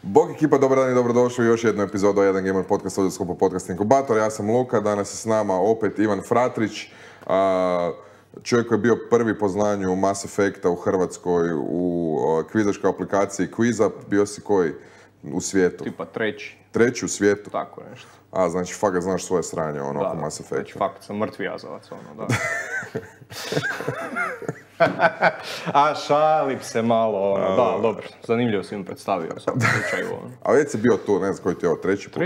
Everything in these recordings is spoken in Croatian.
Bog ekipa, dobar dan i dobrodošli u još jednu epizodu Jedan Gamer Podcast ovdje u sklopu Podcast Inkubator. Ja sam Luka, danas je s nama opet Ivan Fratrić, čovjek koji je bio prvi po znanju Mass Effecta u Hrvatskoj u kvizaškoj aplikaciji Quizup. Bio si koji u svijetu? Tipa treći. Treći u svijetu? Tako nešto. Znači fakat znaš svoje sranje oko Mass Effecta. Znači fakat sam mrtvi jazavac, da. A šalim se malo, da, dobro, zanimljivo si mi predstavio u svakom slučaju. A već si bio tu, ne znam koji ti je ovo, treći put?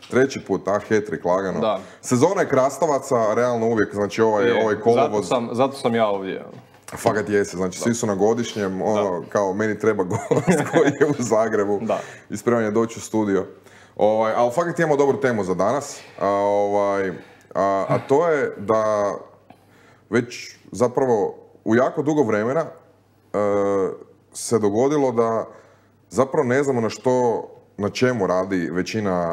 Treći put, hat-trick, lagano. Da. Sezona je krastavaca, realno uvijek, znači ovaj kolovoz... Zato sam ja ovdje. Fakat jesi, znači svi su na godišnjem, kao meni treba gost koji je u Zagrebu i spreman je doći u studio. Ali fakat imamo dobru temu za danas, a to je da već zapravo u jako dugo vremena se dogodilo da zapravo ne znamo na čemu radi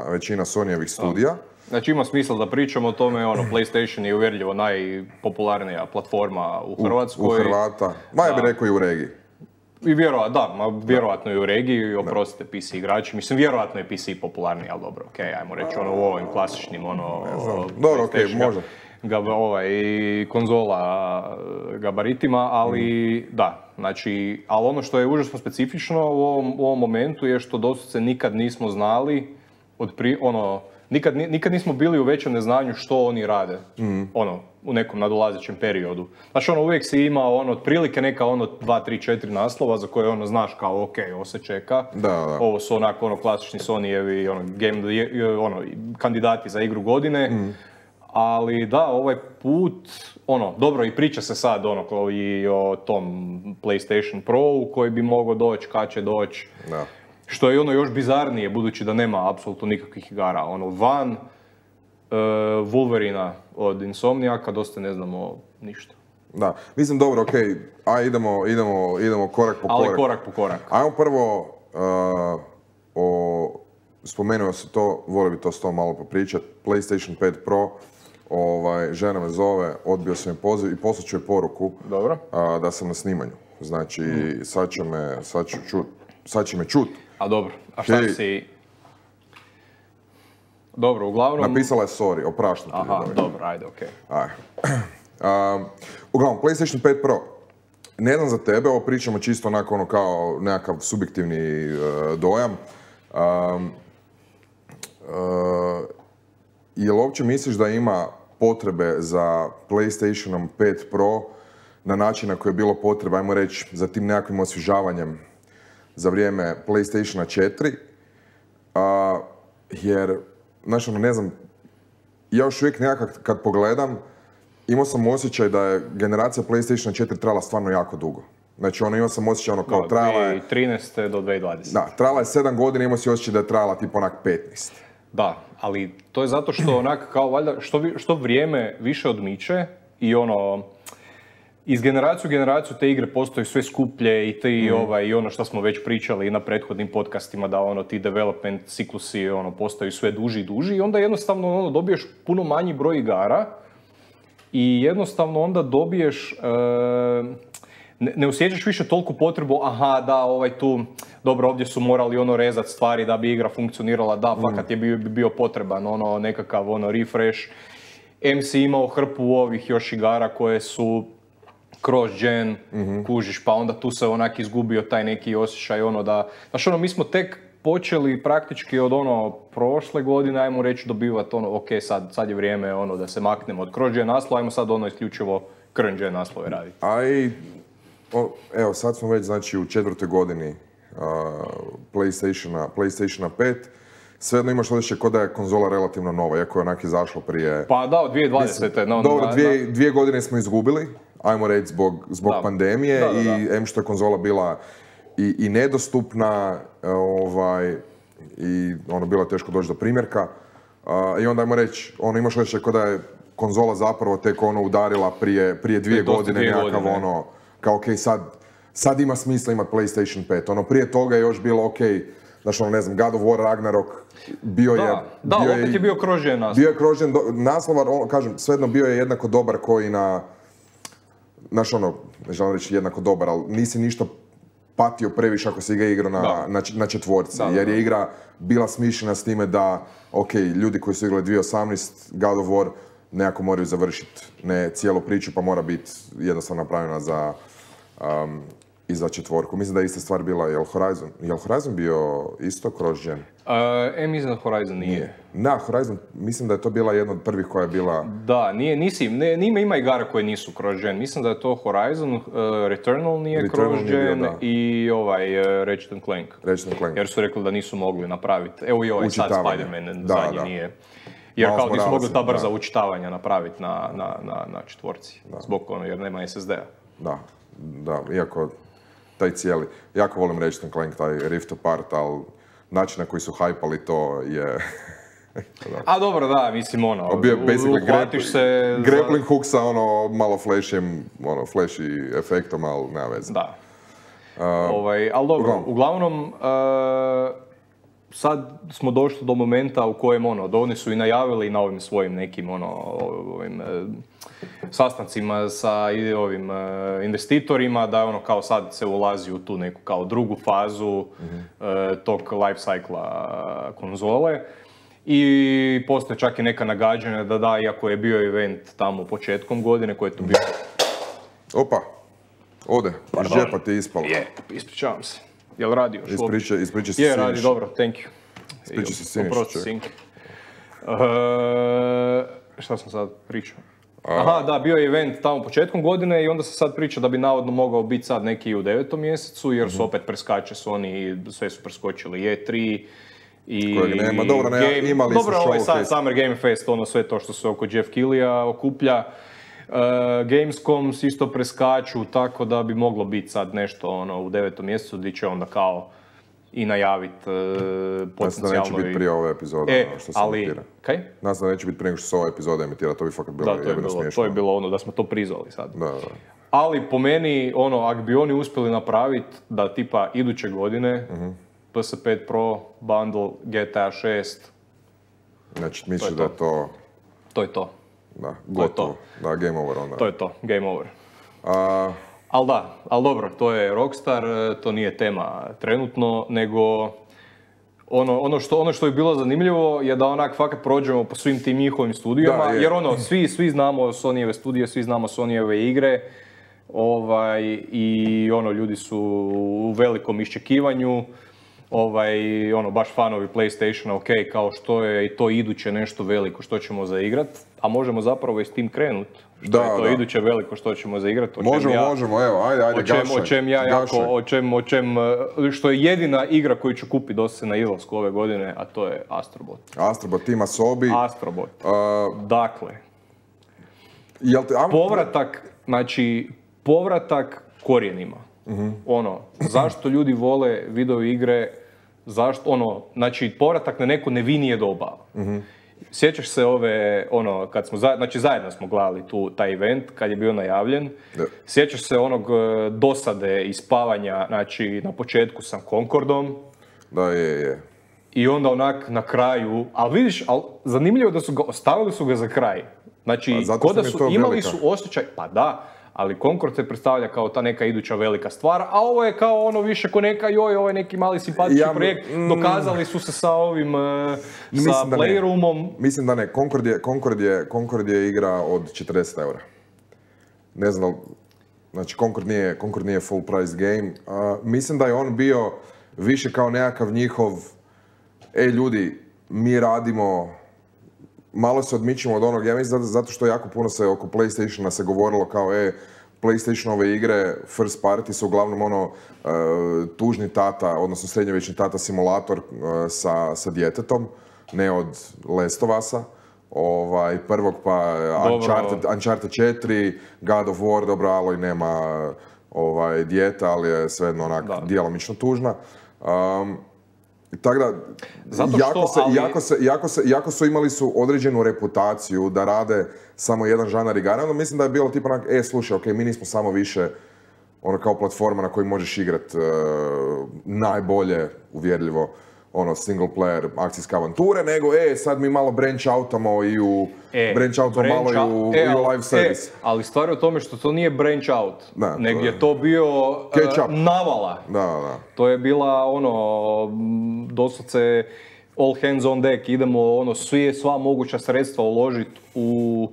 većina Sonyjevih studija. Znači ima smisla da pričamo o tome, PlayStation je uvjerljivo najpopularnija platforma u Hrvatskoj. U Hrvata, ja bih rekao i u regiji. I vjerojatno i u regiji, oprostite PC igrači. Mislim, vjerojatno je PC popularniji, ali dobro, ajmo reći u ovim klasičnim, dobro, može. Konzola gabaritima, ali znači, ali ono što je užasno specifično u ovom momentu je što doslovce nikad nismo znali, nikad nismo bili u većem neznanju što oni rade, u nekom nadolazećem periodu. Znači, uvijek si imao, otprilike neka 2, 3, 4 naslova za koje znaš kao, ovo se čeka. Da. Ovo su klasični Sonyjevi, kandidati za igru godine. Ali da, ovaj put, dobro, i priča se sad i o tom PlayStation Pro koji bi mogao doći, kad će doći. Da. Što je još bizarnije, budući da nema apsolutno nikakvih igara. Van Wolverina od Insomniaka dosta ne znamo ništa. Da, mislim dobro, idemo korak po korak. Ali korak po korak. Ajmo prvo spomenuo se to, volio bi to s tom malo popričat, PlayStation 5 Pro. Žena me zove, odbio sam je poziv i poslat ću je poruku. Dobro. Da sam na snimanju. Znači, sad će me čut. A dobro, a šta si... Dobro, uglavnom... Napisala je sorry, opraštam ti. Aha, dobro, ajde, okej. Uglavnom, PlayStation 5 Pro. Ne znam za tebe, ovo pričamo čisto onako kao nekakav subjektivni dojam. Jel uopće misliš da ima potrebe za PlayStationom 5 Pro na način na koji je bilo potreba, ajmo reći, za tim nekakvim osvježavanjem za vrijeme PlayStationa 4? Jer, znači, ne znam, ja još uvijek nekakav kad pogledam, imao sam osjećaj da je generacija PlayStationa 4 trajala stvarno jako dugo. Znači, imao sam osjećaj kao trajala je... 2013. do 2020. Da, trajala je 7 godina, imao si osjećaj da je trajala tipa onak 15. Da, ali to je zato što kao valjda, što vrijeme više odmiče i iz generacije u generaciju te igre postaju sve skuplje i i ono što smo već pričali i na prethodnim podcastima, da ti development ciklusi postaju sve duži i duži i onda jednostavno dobiješ puno manji broj igara i jednostavno onda dobiješ, ne osjećaš više toliko potrebu, tu, dobro, ovdje su morali rezat stvari da bi igra funkcionirala, fakat je bio potreban nekakav refresh. MC imao hrpu ovih još igara koje su cross-gen, kužiš, pa onda tu se izgubio taj neki osjećaj da... Znaš, mi smo tek počeli praktički od prošle godine, ajmo reći, dobivati sad je vrijeme da se maknemo od cross-gen naslova, ajmo sad isključivo current-gen naslove raditi. Evo, sad smo već, znači, u 4. godini PlayStationa 5. Svejedno imaš osjećaj kao da je konzola relativno nova, iako je onak izašlo prije... Pa da, od 2020. Dobro, 2 godine smo izgubili, ajmo reći, zbog pandemije i što je konzola bila i nedostupna i bilo je teško doći do primjerka. I onda, ajmo reći, imaš osjećaj kao da je konzola zapravo tek udarila prije 2 godine nekakav kao sad ima smisla imati PlayStation 5. Prije toga je još bilo znači, ne znam, God of War Ragnarok bio je... Da, opet je bio cross-gen naslov. Bio je cross-gen naslov, kažem, svejedno bio je jednako dobar koji na... Znaš, ne želim reći jednako dobar, ali nisi ništa patio previše ako se igra na četvorci, jer je igra bila smišljena s time da, ok, ljudi koji su igrali 2018 God of War nekako moraju završiti ne cijelu priču, pa mora biti jednostavno napravljena i za četvorku. Mislim da je ista stvar bila, je li Horizon bio isto cross-gen? Mislim da Horizon nije. Na, Horizon, mislim da je to bila jedna od prvih koja je bila... Da, ima igara koje nisu cross-gen. Mislim da je to Horizon, Returnal nije cross-gen i Ratchet & Clank. Jer su rekli da nisu mogli napraviti. Evo i ovaj sad Spider-Man zadnji nije. Jer kao nisu mogli ta brza učitavanja napraviti na četvorci. Zbog jer nema SSD-a. Da, iako taj cijeli, jako volim Ratchet & Clank, taj Rift Apart, ali način na koji su hajpali to je... A dobro, da, mislim uhvatiš se... Grappling hook sa malo flashy efektom, ali nema veze. Da. Ali dobro, uglavnom, sad smo došli do momenta u kojem oni su i najavili na ovim svojim nekim sastancima sa ovim investitorima da kao sad se ulazi u tu neku kao drugu fazu tog life cycla konzole. I postoje čak i neka nagađanja da iako je bio event tamo početkom godine koji je tu bio... Opa, ode, iz džepa ti je ispalo. Ispričavam se. Jel radi još? Ispričaj se Siniš. Radi, dobro, thank you. Ispričaj se Siniš, ček. Šta sam sad pričao? Aha, da, bio je event tamo početkom godine i onda se sad priča da bi navodno mogao biti sad neki u 9. mjesecu, jer su opet preskače Sony i sve su preskočili E3 i... Kojeg nema, dobro, imali su showcase. Dobro, sad Summer Game Fest, sve to što se oko Jeff Keighleyja okuplja. Gamescom isto preskaču, tako da bi moglo biti sad nešto u 9. mjesecu gdje će onda kao i najaviti potencijalno... Nas da neće biti prije ove epizode, što se emitira. Kaj? Nas da neće biti prije što se ova epizoda emitira, to bi fakat bilo jebeno smiješno. To je bilo da smo to prizvali sad. Da. Ali po meni, ako bi oni uspjeli napraviti da tipa iduće godine PS5 Pro, bundle, GTA 6... Znači, misliš da je to... To je to. Da, gotovo. Da, game over onda. To je to, game over. Ali dobro, to je Rockstar, to nije tema trenutno, nego ono što je bilo zanimljivo je da onak fakat prođemo po svim tim njihovim studijama, jer svi znamo Sonyjeve studije, svi znamo Sonyjeve igre, i ljudi su u velikom iščekivanju. Baš fanovi PlayStationa, ok, kao što je i to iduće nešto veliko što ćemo zaigrat, a možemo zapravo i s tim krenut. Što je to iduće veliko što ćemo zaigrat. Možemo, evo, ajde, gašaj. Što je jedina igra koju ću kupiti dosad na izlasku ove godine, a to je Astrobot. Astrobot, Tima Sobi. Astrobot. Dakle, povratak korijenima. Zašto ljudi vole video igre, povratak na neko nevinije doba. Sjećaš se kad smo, zajedno smo gledali taj event, kad je bio najavljen. Sjećaš se onog dosade i spavanja, na početku sa Concordom. Da, je. I onda na kraju, ali vidiš, zanimljivo da ostavili su ga za kraj. Kod da su imali su osjećaj, pa da, ali Concord se predstavlja kao ta neka iduća velika stvar, a ovo je kao više ko neka, ovo je neki mali simpatični projekt, dokazali su se sa ovim, sa Playroomom. Mislim da ne, Concord je igra od 40 eura. Ne znam, Concord nije full price game. Mislim da je on bio više kao nekakav njihov, ljudi, mi radimo, malo se odmičimo od onog, ja mislim zato što jako puno se oko PlayStationa se govorilo kao PlayStationove igre first party su uglavnom tužni tata, odnosno srednjovječni tata simulator sa djetetom, ne od Last of Us-a. Prvog pa Uncharted 4, God of War, dobro, Aloy nema dijete, ali je svejedno onak djelomično tužna. Tako da, jako su imali su određenu reputaciju da rade samo jedan žanar igara, onda mislim da je bilo tipa onak, slušaj, ok, mi nismo samo više kao platforma na kojoj možeš igrat najbolje, uvjerljivo, ono single player akcijske avanture, nego sad mi malo branch outamo i u malo i u live service. Ali stvar je u tome što to nije branch out, nego je to bio navala. Da. To je bila doslovce all hands on deck, idemo sva moguća sredstva uložiti u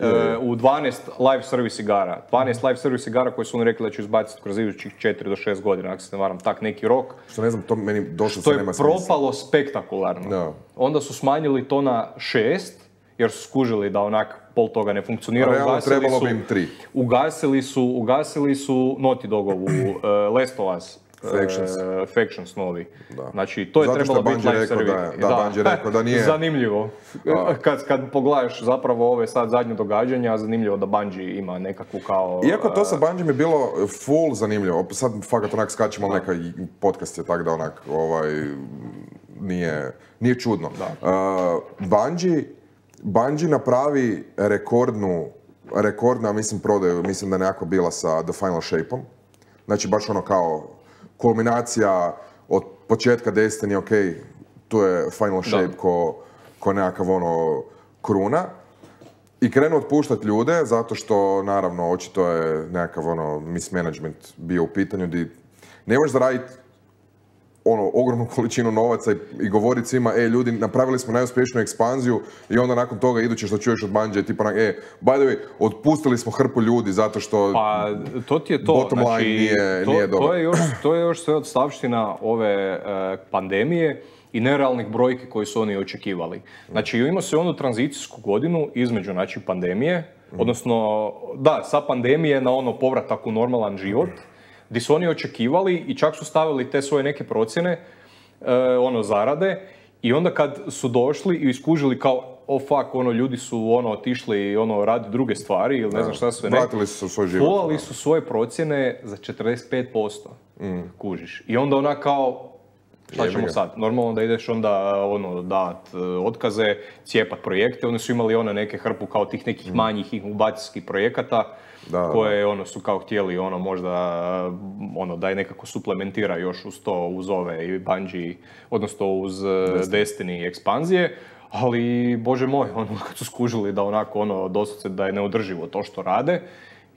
12 live service igara. 12 live service igara koje su oni rekli da će izbaciti kroz idućih 4 do 6 godina, ako se ne varam, tak neki rok. Što ne znam, to meni došlo se nema smisla. To je propalo spektakularno. Da. Onda su smanjili to na 6, jer su skužili da onak pol toga ne funkcionira. Realno trebalo bi im 3. Ugasili su Naughty Dogovu Last of Us. Factions novi. Da. Znači, to je trebalo biti live service. Bungie rekao da nije... Zanimljivo. Kad pogledaš zapravo ove sad zadnje događanja, zanimljivo da Bungie ima nekakvu kao... Iako to sa Bungie je bilo full zanimljivo. Sad fakat onak skačemo, ali neka podcast je tak da onak nije čudno. Bungie napravi rekordna, mislim, prodaju, mislim da je nekako bila sa The Final Shape-om. Znači, baš ono kao kulminacija od početka Destiny, ok, tu je Final Shape ko nekakav kruna. I krenu otpuštati ljude, zato što, naravno, očito je nekakav mismanagement bio u pitanju, di ne možeš zaraditi ogromnu količinu novaca i govoriti svima, ljudi, napravili smo najuspješniju ekspanziju i onda nakon toga iduće što čuješ od Bungie, tipa, by the way, otpustili smo hrpu ljudi zato što to ti je to. Bottom line nije dobro. To je još sve odstavština ove pandemije i nerealnih brojki koje su oni očekivali. Znači, imao se onu tranzicijsku godinu između, znači, pandemije, odnosno, sa pandemije na povratak u normalan život, gdje su oni očekivali i čak su stavili te svoje neke procjene, zarade, i onda kad su došli i iskužili kao, ljudi su otišli radi druge stvari ili ne znam šta sve ne. Vratili su u svoj život. Polali su svoje procjene za 45%, kužiš. I onda kao, šta ćemo sad? Normalno da ideš onda dat otkaze, cijepat projekte. Oni su imali neke hrpu kao tih nekih manjih inkubacijskih projekata koje su kao htjeli možda da je nekako suplementira još uz to, uz ove i Bungie, odnosno uz Destiny ekspanzije. Ali, bože moj, kad su skužili da doslovce da je neodrživo to što rade,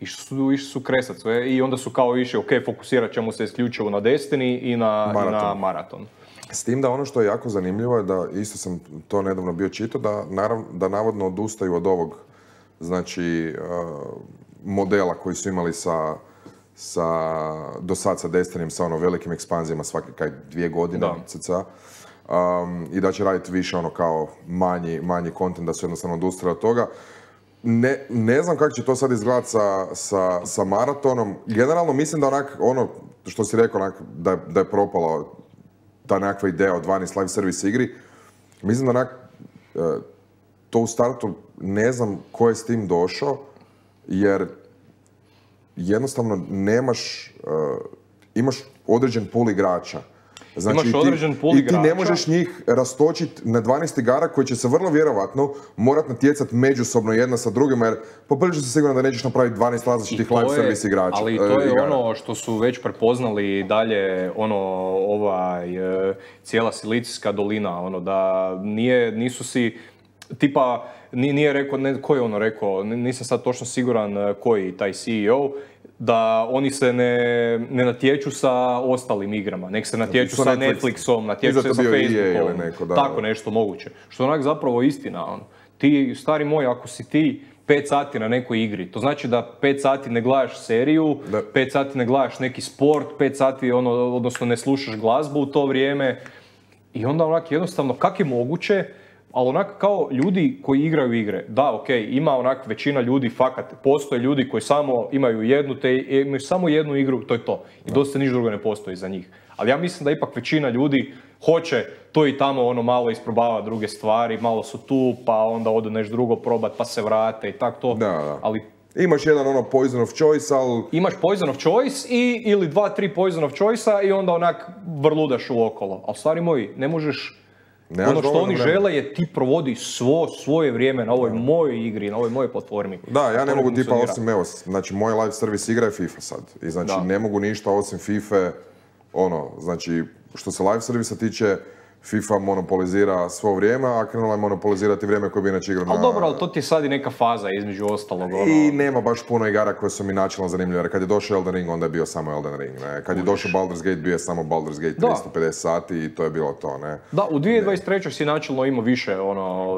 išli su kresat sve i onda su kao išli, fokusirat ćemo se isključivo na Destiny i na Marathon. S tim da ono što je jako zanimljivo je da, isto sam to nedavno bio čitao, da navodno odustaju od ovog, znači, modela koji su imali do sad sa Destinyjem, sa velikim ekspanzijama svake 2 godine, cca. I da će raditi više kao manji content, da su jednostavno odustali od toga. Ne znam kako će to sad izgledati sa Maratonom. Generalno mislim da što si rekao, da je propala ta nekakva ideja od 12 live service igri. Mislim da to u startu ne znam ko je s tim došao, jer jednostavno imaš određen pool igrača. Znači, i ti ne možeš njih rastočiti na 12 igara koji će se vrlo vjerovatno morat natjecati međusobno jedna sa drugima, jer poprilično si siguran da nećeš napraviti 12 različitih live service igrača. Ali to je igara. Što su već prepoznali dalje, cijela Silicijska dolina, da nisu si, tipa, nije rekao, ko je rekao, nisam sad točno siguran koji taj CEO, da oni se ne natječu sa ostalim igrama, nek se natječu sa Netflixom, natječu se sa Facebookom, tako nešto moguće. Što je zapravo istina. Ti, stari moj, ako si ti 5 sati na nekoj igri, to znači da 5 sati ne gledaš seriju, 5 sati ne gledaš neki sport, 5 sati odnosno ne slušaš glazbu u to vrijeme, i onda jednostavno, kak je moguće, ali kao ljudi koji igraju igre, ima većina ljudi, fakat, postoje ljudi koji samo imaju samo jednu igru, to je to. I dosta ništa drugo ne postoji za njih. Ali ja mislim da ipak većina ljudi hoće to i tamo malo isprobava druge stvari, malo su tu, pa onda odu nešto drugo probat, pa se vrate i tako to. Da. Ali imaš jedan poison of choice, ali... Imaš poison of choice ili 2-3 poison of choice-a i onda vrludaš uokolo. Ali stvari moji, ne možeš... Što oni žele je ti provodi svoje vrijeme na ovoj mojoj igri, na ovoj mojoj platformi. Da, ja ne mogu tipa osim, znači moj live service igra je FIFA sad. I znači ne mogu ništa osim FIFA, znači što se live servisa tiče, FIFA monopolizira svo vrijeme, a krenula je monopolizirati vrijeme koje bi inače igrao na... Ali dobro, ali to ti je sad i neka faza između ostalog. I nema baš puno igara koje su mi načelno zanimljive, jer kad je došao Elden Ring, onda je bio samo Elden Ring, ne? Kad je došao Baldur's Gate, bio je samo Baldur's Gate 350 sati i to je bilo to, ne? Da, u 2023. si načelno imao više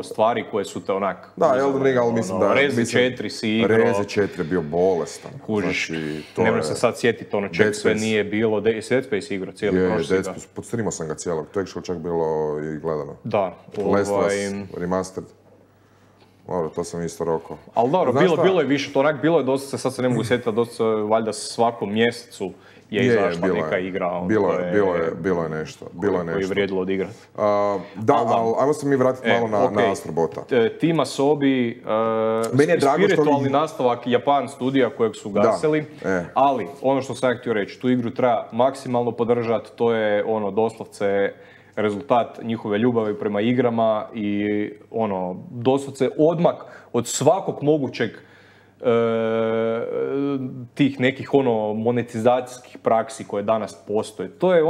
stvari koje su te onak... Da, Elden Ring, ali mislim da... Rezi 4 si igrao... Rezi 4 je bio bolestan. Kužiš, ne moram se sad sjetiti čeg sve nije bilo. Dead Space igrao cijeli prošli. Podstreamao sam ga cijelog, to je čak bilo i gledano. Da. Last of Us Remastered. Dobro, to sam isto rokao. Ali dobro, bilo je više, to onak bilo je dosta, sad se ne mogu sjetiti, dosta valjda svakom mjesecu je izašla neka igra. Bilo je nešto. Koji je vrijedilo odigrati. Da, ali ajmo se mi vratiti malo na Astrobota. Team Asobi, spiritualni nastavak Japan studija kojeg su gasili, ali ono što sam htio reći, tu igru treba maksimalno podržati, to je doslovce rezultat njihove ljubavi prema igrama i doslovce odmak od svakog mogućeg tih nekih monetizacijskih praksi koje danas postoje. To je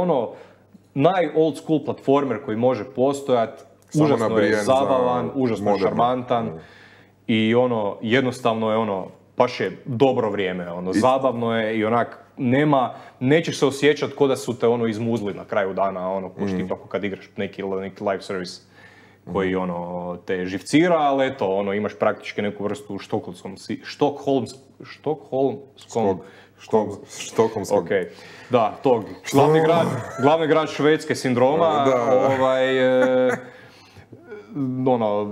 naj-old school platformer koji može postojati, užasno je zabavan, užasno je šarmantan i jednostavno je baš je dobro vrijeme, zabavno je i onak nećeš se osjećati ko da su te izmuzli na kraju dana, ko što kad igraš neki live service koji te živcira, ali eto, imaš praktički neku vrstu štokholmskog. Okay. Da, tog. Glavni grad Švedske sindroma,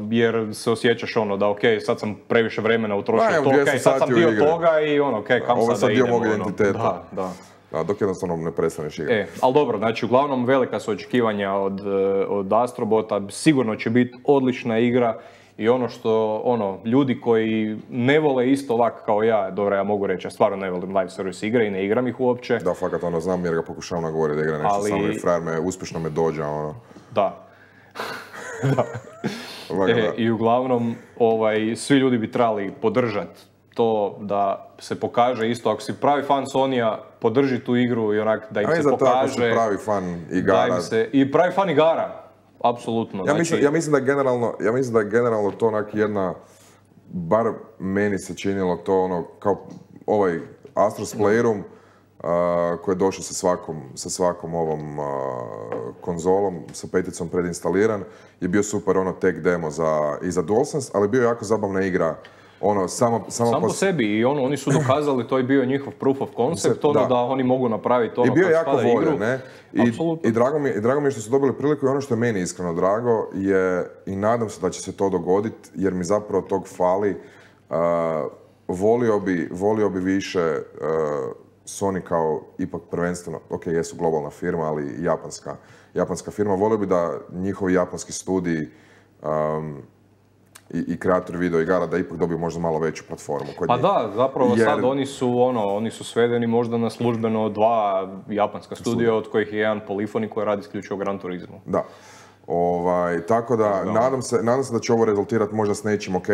jer se osjećaš da sad sam previše vremena utrošio to, sad sam dio toga i kam ovo sada idemo. Ovo je sad dio mog identiteta. Da, dok jednostavno ne prestaneš igrati. Ali dobro, znači uglavnom velika su očekivanja od Astrobota, sigurno će biti odlična igra i ljudi koji ne vole isto ovako kao ja, dobro ja mogu reći, ja stvarno ne volim live service igre i ne igram ih uopće. Da, fakat znam jer ga pokušavam nagovoriti da igra nešto, samo i frajer uspješno me dođa, Da. Da. I uglavnom, svi ljudi bi trebali podržati to da se pokaže isto, ako si pravi fan Sony-a, podrži tu igru i onak da im se pokaže... pravi fan igara. I pravi fan igara, apsolutno. Ja mislim da je generalno to onak jedna, bar meni se činilo to kao ovaj Astro's Playroom, koji je došao sa svakom ovom konzolom, sa peticom predinstaliran, je bio super tech demo i za DualSense, ali bio je jako zabavna igra. Sam po sebi i oni su dokazali, to je bio njihov proof of concept, da oni mogu napraviti i bio je jako voljen, ne? I drago mi je što su dobili priliku i ono što je meni iskreno drago je, i nadam se da će se to dogoditi, jer mi zapravo tog fali, volio bi više Sony kao ipak prvenstveno, ok, jesu globalna firma, ali japanska firma, volio bi da njihovi japanski studiji i kreatori video igara da ipak dobiju možda malo veću platformu kod njih. Da, zapravo sad oni su svedeni možda na službeno 2 japanska studija, od kojih je jedan Polyphony koji radi isključivo Gran Turismo. Da. Tako da, nadam se da će ovo rezultirati možda s nečim, ok,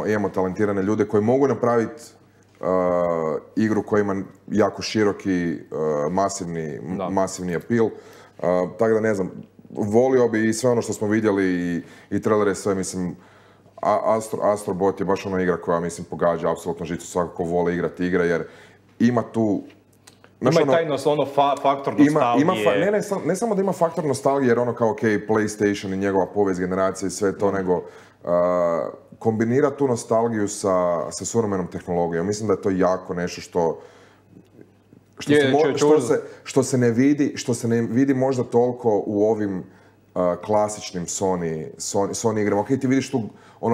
imamo talentirane ljude koji mogu napraviti igru koja ima jako široki, masivni appeal. Tako da ne znam, volio bi i sve ono što smo vidjeli i trailere, sve, mislim, Astrobot je baš ona igra koja, mislim, pogađa apsolutno žicu svako ko voli igrati igre, jer ima tu... Ima i taj faktor nostalgije. Ne samo da ima faktor nostalgije, jer kao, ok, PlayStation i njegova povijest generacije i sve to, nego kombinira tu nostalgiju sa suvremenom tehnologijom. Mislim da je to jako nešto što se ne vidi možda toliko u ovim klasičnim Sony igrama. Ok, ti vidiš tu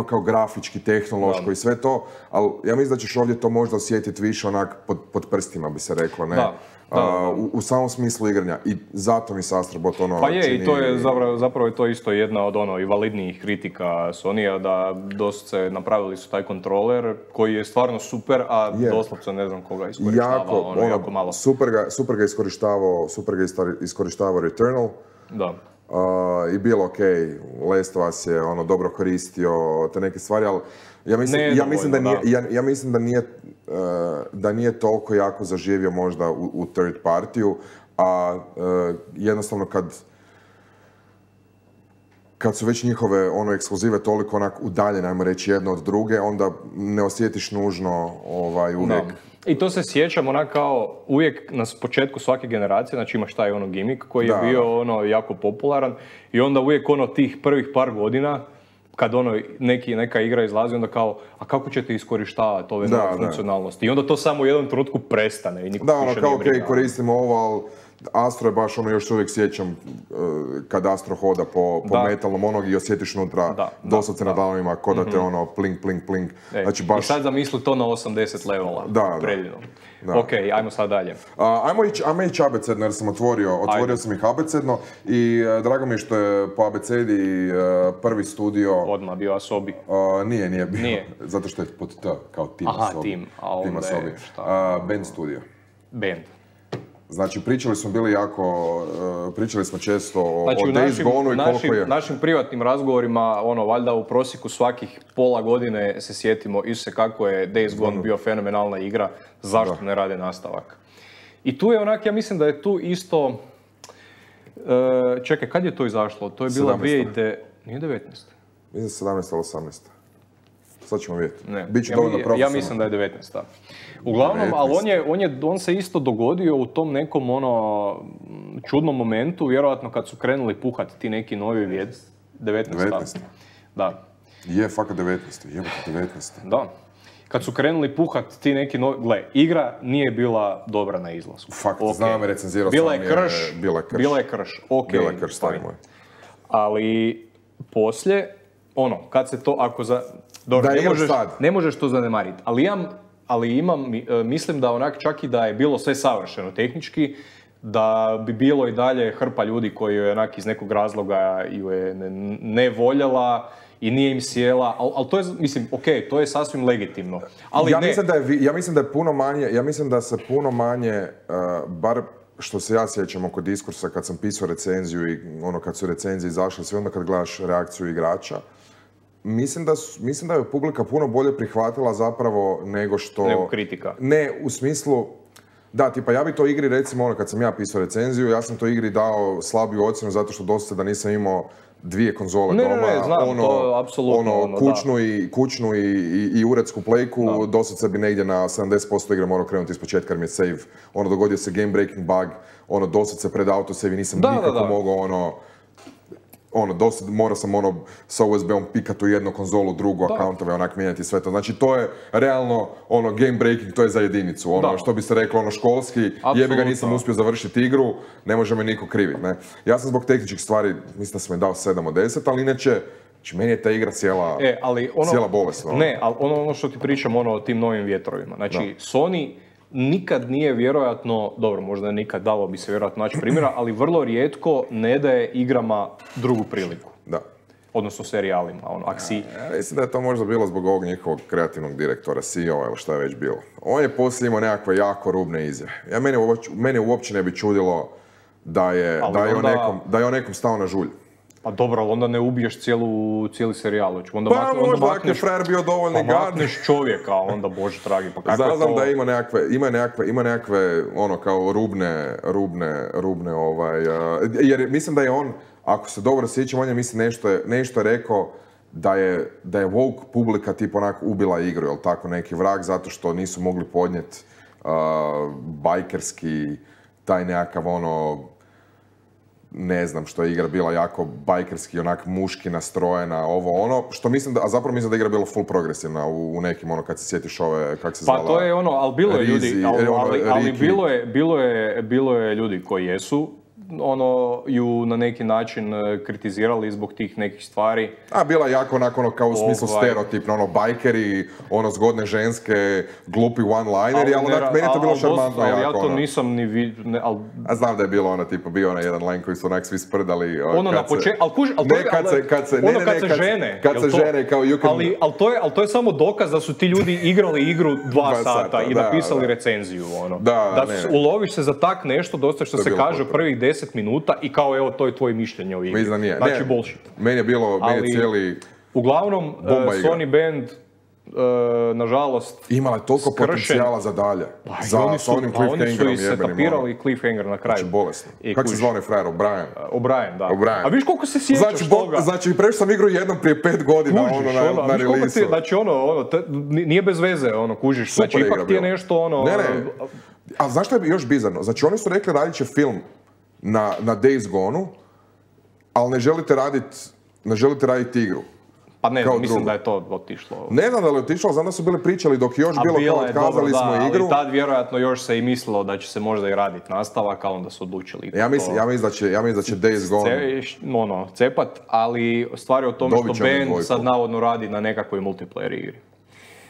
kao grafički, tehnološko i sve to, ali ja mislim da ćeš ovdje to možda osjetiti više onak pod prstima, bi se reklo, ne? U samom smislu igranja i zato mi se Astrobot Pa je, čini... i to je zapravo je to isto jedna od i validnijih kritika Sony-a, da doslovce napravili su taj kontroler koji je stvarno super, a doslovce ne znam koga iskorištava, jako malo. Super ga iskorištavao Returnal. Da. I bilo ok, Last of Us je dobro koristio te neke stvari, ali ja mislim da nije toliko jako zaživio možda u third partiju, a jednostavno kad su već njihove ekskluzive toliko onak udaljene, ajmo reći, jedno od druge, onda ne osjetiš nužno uvijek. No. I to se sjećam onak kao uvijek na početku svake generacije, znači imaš taj gimmick koji je bio jako popularan i onda uvijek tih prvih par godina kad neka igra izlazi, onda kao, a kako ćete iskorištavati ove nove funkcionalnosti? I onda to samo u jednom trenutku prestane i niko više kao nije briga. Koristimo ovo, ali Astro je baš još uvijek sjećam kad Astro hoda po metalnom i osjetiš unutra doslovce na dalovima ko da te plink, plink, plink. Znači, baš... I sad zamisli to na 80 levela. Predivno. Ok, ajmo sad dalje. Ajmo ići abecedno jer sam otvorio sam ih abecedno i drago mi je što je po abecedi prvi studio... Odmah bio Asobi. Nije bio, zato što je pod T, kao Team Asobi. Team Asobi. Band studio. Band. Znači, pričali smo često o Days Gone-u i koliko je... Našim privatnim razgovorima, valjda u prosjeku svakih pola godine se sjetimo Isuse kako je Days Gone bio fenomenalna igra, zašto ne rade nastavak. I tu je ja mislim da je tu isto... Čekaj, kad je to izašlo? To je bila 2000... Nije 19? Mislim 17 ili 18. Sad ćemo vidjeti. Ja mislim da je 19. Uglavnom, 19. Ali on se isto dogodio u tom nekom čudnom momentu, vjerojatno kad su krenuli puhati ti neki novi vijed. 19. Da. Je, fakat 19. Da. Kad su krenuli puhati ti neki novi... Gle, igra nije bila dobra na izlasku. Fakt, znam, recenzirao sam je. Bila je krš. Ok, bila je krš, stari moj. Ali poslije, kad se to, ako za... Dobro, ne možeš to zanemariti, ali mislim da čak i da je bilo sve savršeno tehnički, da bi bilo i dalje hrpa ljudi koji je iz nekog razloga ju je ne voljela i nije im sjela, ali to je, mislim, to je sasvim legitimno. Ali ja mislim da se puno manje, bar što se ja sjećam oko diskursa kad sam pisao recenziju i kad su recenzije izašle, sve onda kad gledaš reakciju igrača, mislim da je publika puno bolje prihvatila zapravo nego kritika. Ne, u smislu... Da, tipa ja bi to igri, recimo kad sam ja pisao recenziju, ja sam to igri dao slabiju ocjenu zato što dosta da nisam imao dvije konzole doma. Ne, znam, to je apsolutno kućnu i uredsku plejku, dosad bi negdje na 70% igre morao krenuti iz početka jer mi je save. Dogodio se game breaking bug, dosad se pred autosave i nisam nikako mogao dosta morao sam sa USB-om pikat u jednu konzolu, drugu akauntove, mijenjati sve to. Znači to je realno game breaking, to je za jedinicu. Što bi se reklo školski, jebi ga nisam uspio završiti igru, ne može me niko kriviti. Ja sam zbog tehničkih stvari, mislim da sam je dao 7 od 10, ali inače, meni je ta igra cijela bolesna. Ne, ali ono što ti pričam o tim novim vjetrovima. Znači, Sony nikad nije vjerojatno, dobro, možda nikad dalo bi se vjerojatno naći primjera, ali vrlo rijetko ne daje igrama drugu priliku. Da. Odnosno serijalima, aksi. Mislim da je to možda bilo zbog ovog njihovog kreativnog direktora, CEO-a ili šta je već bilo. On je poslije imao nekakve jako rubne izjave. Mene uopće ne bi čudilo da je on nekom stao na žulj. Pa dobro, ali onda ne ubiješ cijeli serijal. Možda ako je frajer bio dovoljni gad. Makneš čovjeka, onda bože dragi, pa kako je to... Znam da ima nekakve kao rubne jer mislim da je on, ako se dobro sjećam, on je mislim nešto rekao da je woke publika ubila igru, jel tako, neki vrag, zato što nisu mogli podnijeti bajkerski, taj nekakav ne znam što je igra bila jako bajkerski, muški nastrojena, što mislim da, a zapravo mislim da je igra bila full progresivna u nekim, kad se sjetiš kak se zvala... Pa to je ali bilo je ljudi, ali bilo je ljudi koji jesu, ju na neki način kritizirali zbog tih nekih stvari. A bila jako kao u smislu stereotipno, bajkeri, zgodne ženske, glupi one-lineri, ali meni je to bilo šarmantno jako. Ja to nisam ni vidio, ali... A znam da je bilo bio jedan line koji su svi sprdali. Na početku, kad se žene. Kad se žene, kao you can... Ali to je samo dokaz da su ti ljudi igrali igru 2 sata i napisali recenziju. Uloviš se za tak nešto, dosta što se kaže u prvih 10 minuta i kao evo to je tvoje mišljenje o igri. Mislim da nije. Znači bullshit. Meni je cijeli... Uglavnom, Sony Band nažalost, imala je toliko potencijala za dalje. Sa onim cliffhangerom jebenim. Oni su setapirali cliffhanger na kraju. Znači, bolesno. Kako se zvao onaj frajer? O'Brien, da. A viš koliko se sjećaš toga? Znači, prešao sam igru jednom prije 5 godina na release-u. Znači, nije bez veze, kužiš. Znači, ipak ti je nešto, Ne. A znaš što je još bizarno? Znači, oni su rekli radit će film na Days Gone-u, ali ne želite raditi igru. Pa ne znam, mislim da je to otišlo. Ne znam da li je otišlo, znam da su bili pričali dok još bilo kao otkazali smo igru. Ali tad vjerojatno još se i mislilo da će se možda i raditi nastavak, ali onda su odlučili. Ja mislim da će Days Gone cepat, ali stvar je o tome što band sad navodno radi na nekakvoj multiplayer igri.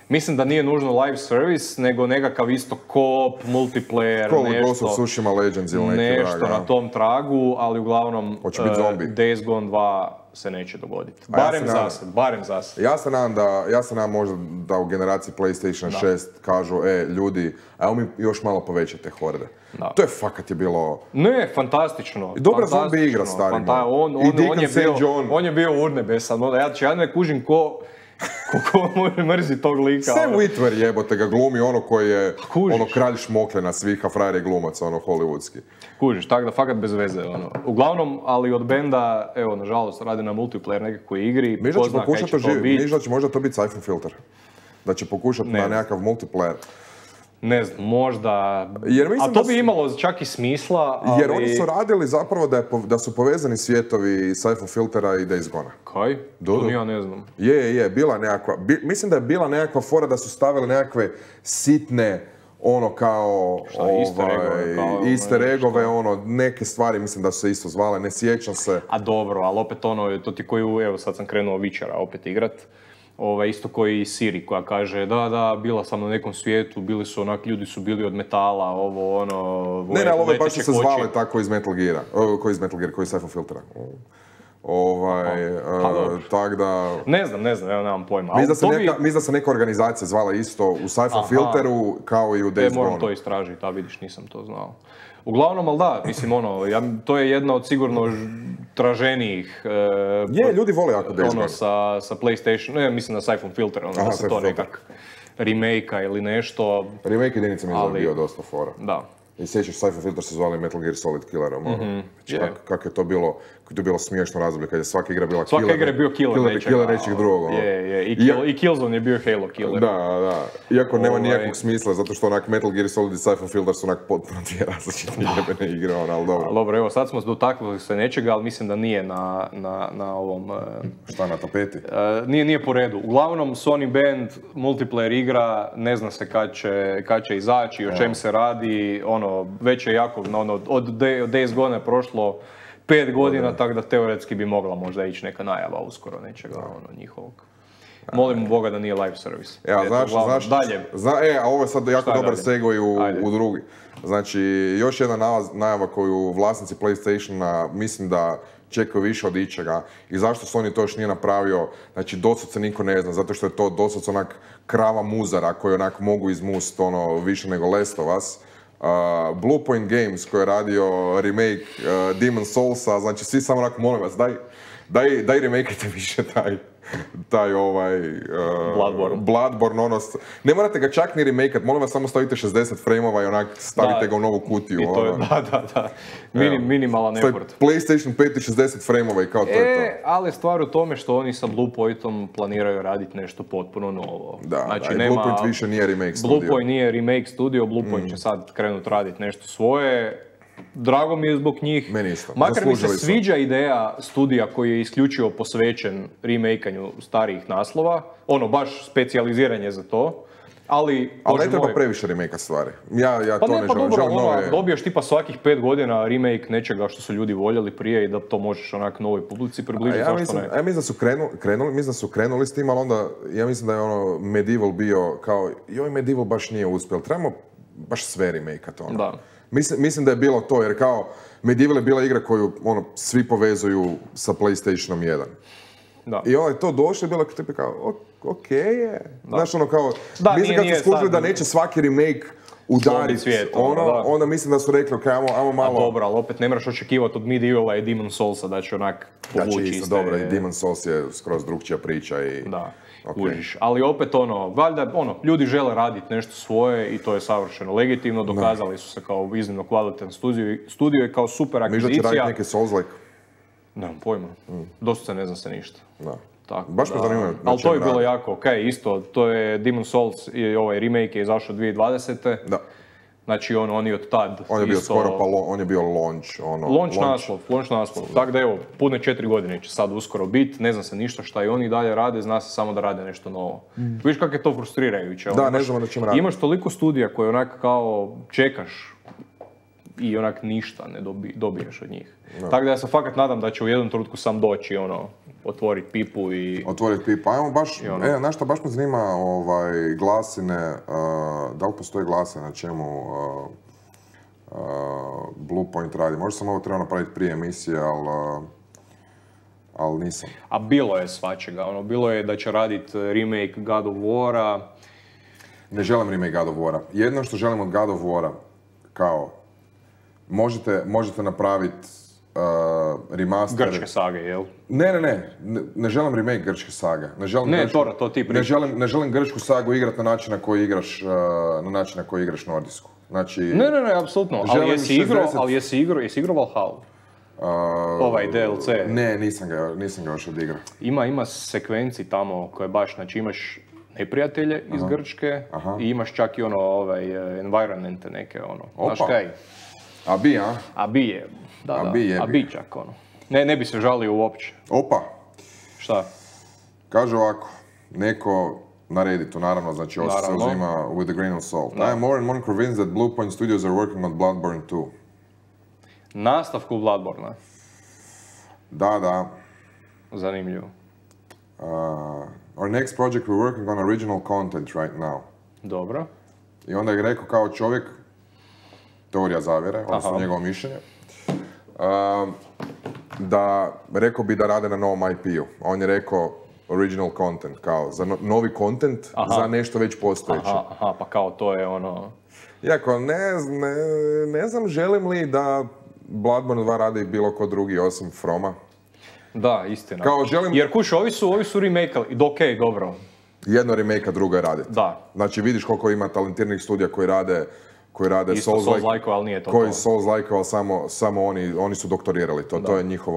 Mislim da nije nužno live service, nego nekakav isto co-op, multiplayer, Ghost of Tsushima Legends ili nešto na tom tragu, ali uglavnom Days Gone 2 se neće dogoditi. Barem za se. Ja se nadam možda da u generaciji PlayStation 6 kažu, ljudi, ajmo mi još malo povećate horde. To je fakat je bilo... Ne, fantastično. I dobra zombi igra, stari. On je bio urnebesan. Ja ne kužim ko mrzi tog lika. Sam Witwer jebote ga glumi koji je kralj šmokljena svih, a frajer je glumac, hollywoodski. Kužiš, tako da fakat bez veze. Uglavnom, ali od benda, nažalost, radi na multiplayer nekakvoj igri. Miš da će možda to biti Siphon Filter. Da će pokušati na nekakav multiplayer. Ne znam, možda... A to bi imalo čak i smisla, ali... Jer oni su radili zapravo da su povezani svijetovi Siphon Filtera i Days Gone. Kaj? To ja ne znam. Bila nekakva... Mislim da je bila nekakva fora da su stavili nekakve sitne, kao... easter eggove, neke stvari mislim da su se isto zvale, ne sjećam se. A dobro, ali opet to ti koji, sad sam krenuo Witchera opet igrat. Isto koji Siri koja kaže da, bila sam na nekom svijetu, bili su ljudi su bili od metala, Ne, ove baš su se zvale tako iz Metal Geara, koji iz Siphon Filtera. Tak da... Ne znam, nemam pojma. Mislim da se neka organizacija zvala isto u Siphon Filteru kao i u Days Gone. Moram to istražiti, vidiš, nisam to znao. Uglavnom, ali da, mislim, to je jedna od sigurno traženijih... ljudi vole jako Days Gone. Sa PlayStation, mislim na Siphon Filter, da se to nekak remake-a ili nešto. Remake jedinica mi je bio dosta fora. Da. I sjećaš, Siphon Filter se zvali Metal Gear Solid Killerom. Kako je to bilo smiješno razdoblje, kad je svaka igra bila killer. Svaka igra je bio killer nečeg drugog. I Killzone je bio Halo killer. Da. Iako nema nijakvog smisla, zato što Metal Gear Solid i Siphon Filter su potpuno dvije različite jebene igre, ali dobro. Dobro, evo, sad smo dotaknuli se nečega, ali mislim da nije na ovom... Šta, na tapeti? Nije po redu. Uglavnom, Sony Band, multiplayer igra, ne zna se kad će izaći, o čem se radi, već je jako, od Days Gone je prošlo 5 godina, tako da teoretski bi mogla možda ići neka najava uskoro nečega njihovog. Molim Boga da nije live service. Znaš, dalje. A ovo je sad jako dobar segway u drugi. Znači, još jedna najava koju vlasnici PlayStationa mislim da čekaju više od ičega i zašto Sony to još nije napravio, znači dosad se niko ne zna, zato što je to dosad onak krava muzara koju onak mogu izmust više nego Last of Us. Bluepoint Games koji je radio remake Demon's Soulsa, znači svi samo onako molim vas, daj remakeajte više taj Bloodborne, ne morate ga čak ni remakeat, molim vas samo stavite 60 frameova i onak stavite ga u novu kutiju. I to je, da. Minimalan effort. PlayStation 5 i 60 frameova i kao to je to. Ali stvar u tome što oni sa Bluepointom planiraju raditi nešto potpuno novo. Znači, Bluepoint više nije remake studio. Bluepoint nije remake studio, Bluepoint će sad krenuti raditi nešto svoje. Drago mi je zbog njih. Meni isto. Makar mi se sviđa ideja studija koji je isključivo posvećen remakeanju starijih naslova. Baš specijaliziranje za to. Ali ne treba previše remake stvari. Ja to ne želim. Dobiješ tipa svakih 5 godina remake nečega što su ljudi voljeli prije i da to možeš onak novoj publici približiti, zašto ne? Ja mislim da su krenuli s tim, ali onda ja mislim da je Medieval bio kao, Medieval baš nije uspjel. Trebamo baš sve remake-at Da. Mislim da je bilo to, jer kao Medieval je bila igra koju svi povezuju sa PlayStationom 1. Da. I to došlo i bilo kao, okej je. Znaš, kao, mislim kad su skužili da neće svaki remake udariti, onda mislim da su rekli, ok, ajmo malo... A dobro, ali opet ne moraš očekivati od Medievala i Demon Soulsa da će onak povući iste... Znači, dobro, i Demon Souls je skroz drugčija priča i... Da, kužiš. Ali opet valjda, ljudi žele raditi nešto svoje i to je savršeno legitimno, dokazali su se kao iznimno kvalitetan studio i kao super akvizicija. Miš da će raditi neki Souls-like? Nemam pojma, dosta ne znam se ništa. Da. Tako, baš me zanimljivo. Ali to je bilo jako okej, isto, to je Demon Souls i ovaj remake je izašao 2020. Da. Znači on je od tad on je bio isto... skoro, on je bio launch. Launch naslov. Tako da evo, pune 4 godine će sad uskoro biti, ne zna se ništa šta i oni dalje rade, zna se samo da rade nešto novo. Viš kako je to frustrirajuće. Da, ne znamo da ćemo raditi. Imaš toliko studija koje onak kao čekaš i onak ništa ne dobiješ od njih. Tako da ja se fakat nadam da će u jednom trenutku sam doći otvoriti pipu i... Otvoriti pipu. Ajmo baš, znaš šta, baš me zanima glasine, da li postoje glasine na čemu Bluepoint radi. Možda sam ovo trebao napraviti prije emisije, ali nisam. A bilo je svačega, bilo je da će raditi remake God of War-a. Ne želim remake God of War-a. Jedno što želim od God of War-a, kao, možete napraviti remaster... Grčke sage, jel? Ne želim remake grčke sage. To ti pričaš. Ne želim grčku sagu igrati na način na koji igraš nordijsku. Znači... Ne, apsolutno. Ali jesi igrao Valhalla? Ovaj DLC? Ne, nisam ga još odigrao. Ima sekvenci tamo koje baš, znači imaš neprijatelje iz Grčke i imaš čak i environmente neke, znaš kaj? Abi je. Abi čak, Ne bi se žalio uopće. Opa! Šta? Kaže ovako, neko na Redditu, naravno, znači ovo se uzima with a grain of salt. I am more and more convinced that Bluepoint Studios are working on Bloodborne 2. Nastavku Bloodborne. Da. Zanimljivo. Our next project we're working on original content right now. Dobro. I onda je rekao kao čovjek, teorija zavjere, odnosno njegovo mišljenje, da rekao bi da rade na novom IP-u. On je rekao original content, kao za novi content za nešto već postojeće. Pa kao to je Iako ne znam želim li da Bloodborne 2 radi bilo ko drugi osim Froma. Da, istina. Želim... Jer kuš, ovi su remake-ali, dobro. Jedno remake-a, drugo je raditi. Da. Znači vidiš koliko ima talentiranih studija koji rade Souls-like, ali nije to. Koji Souls-like, ali samo oni su doktorirali to. To je njihov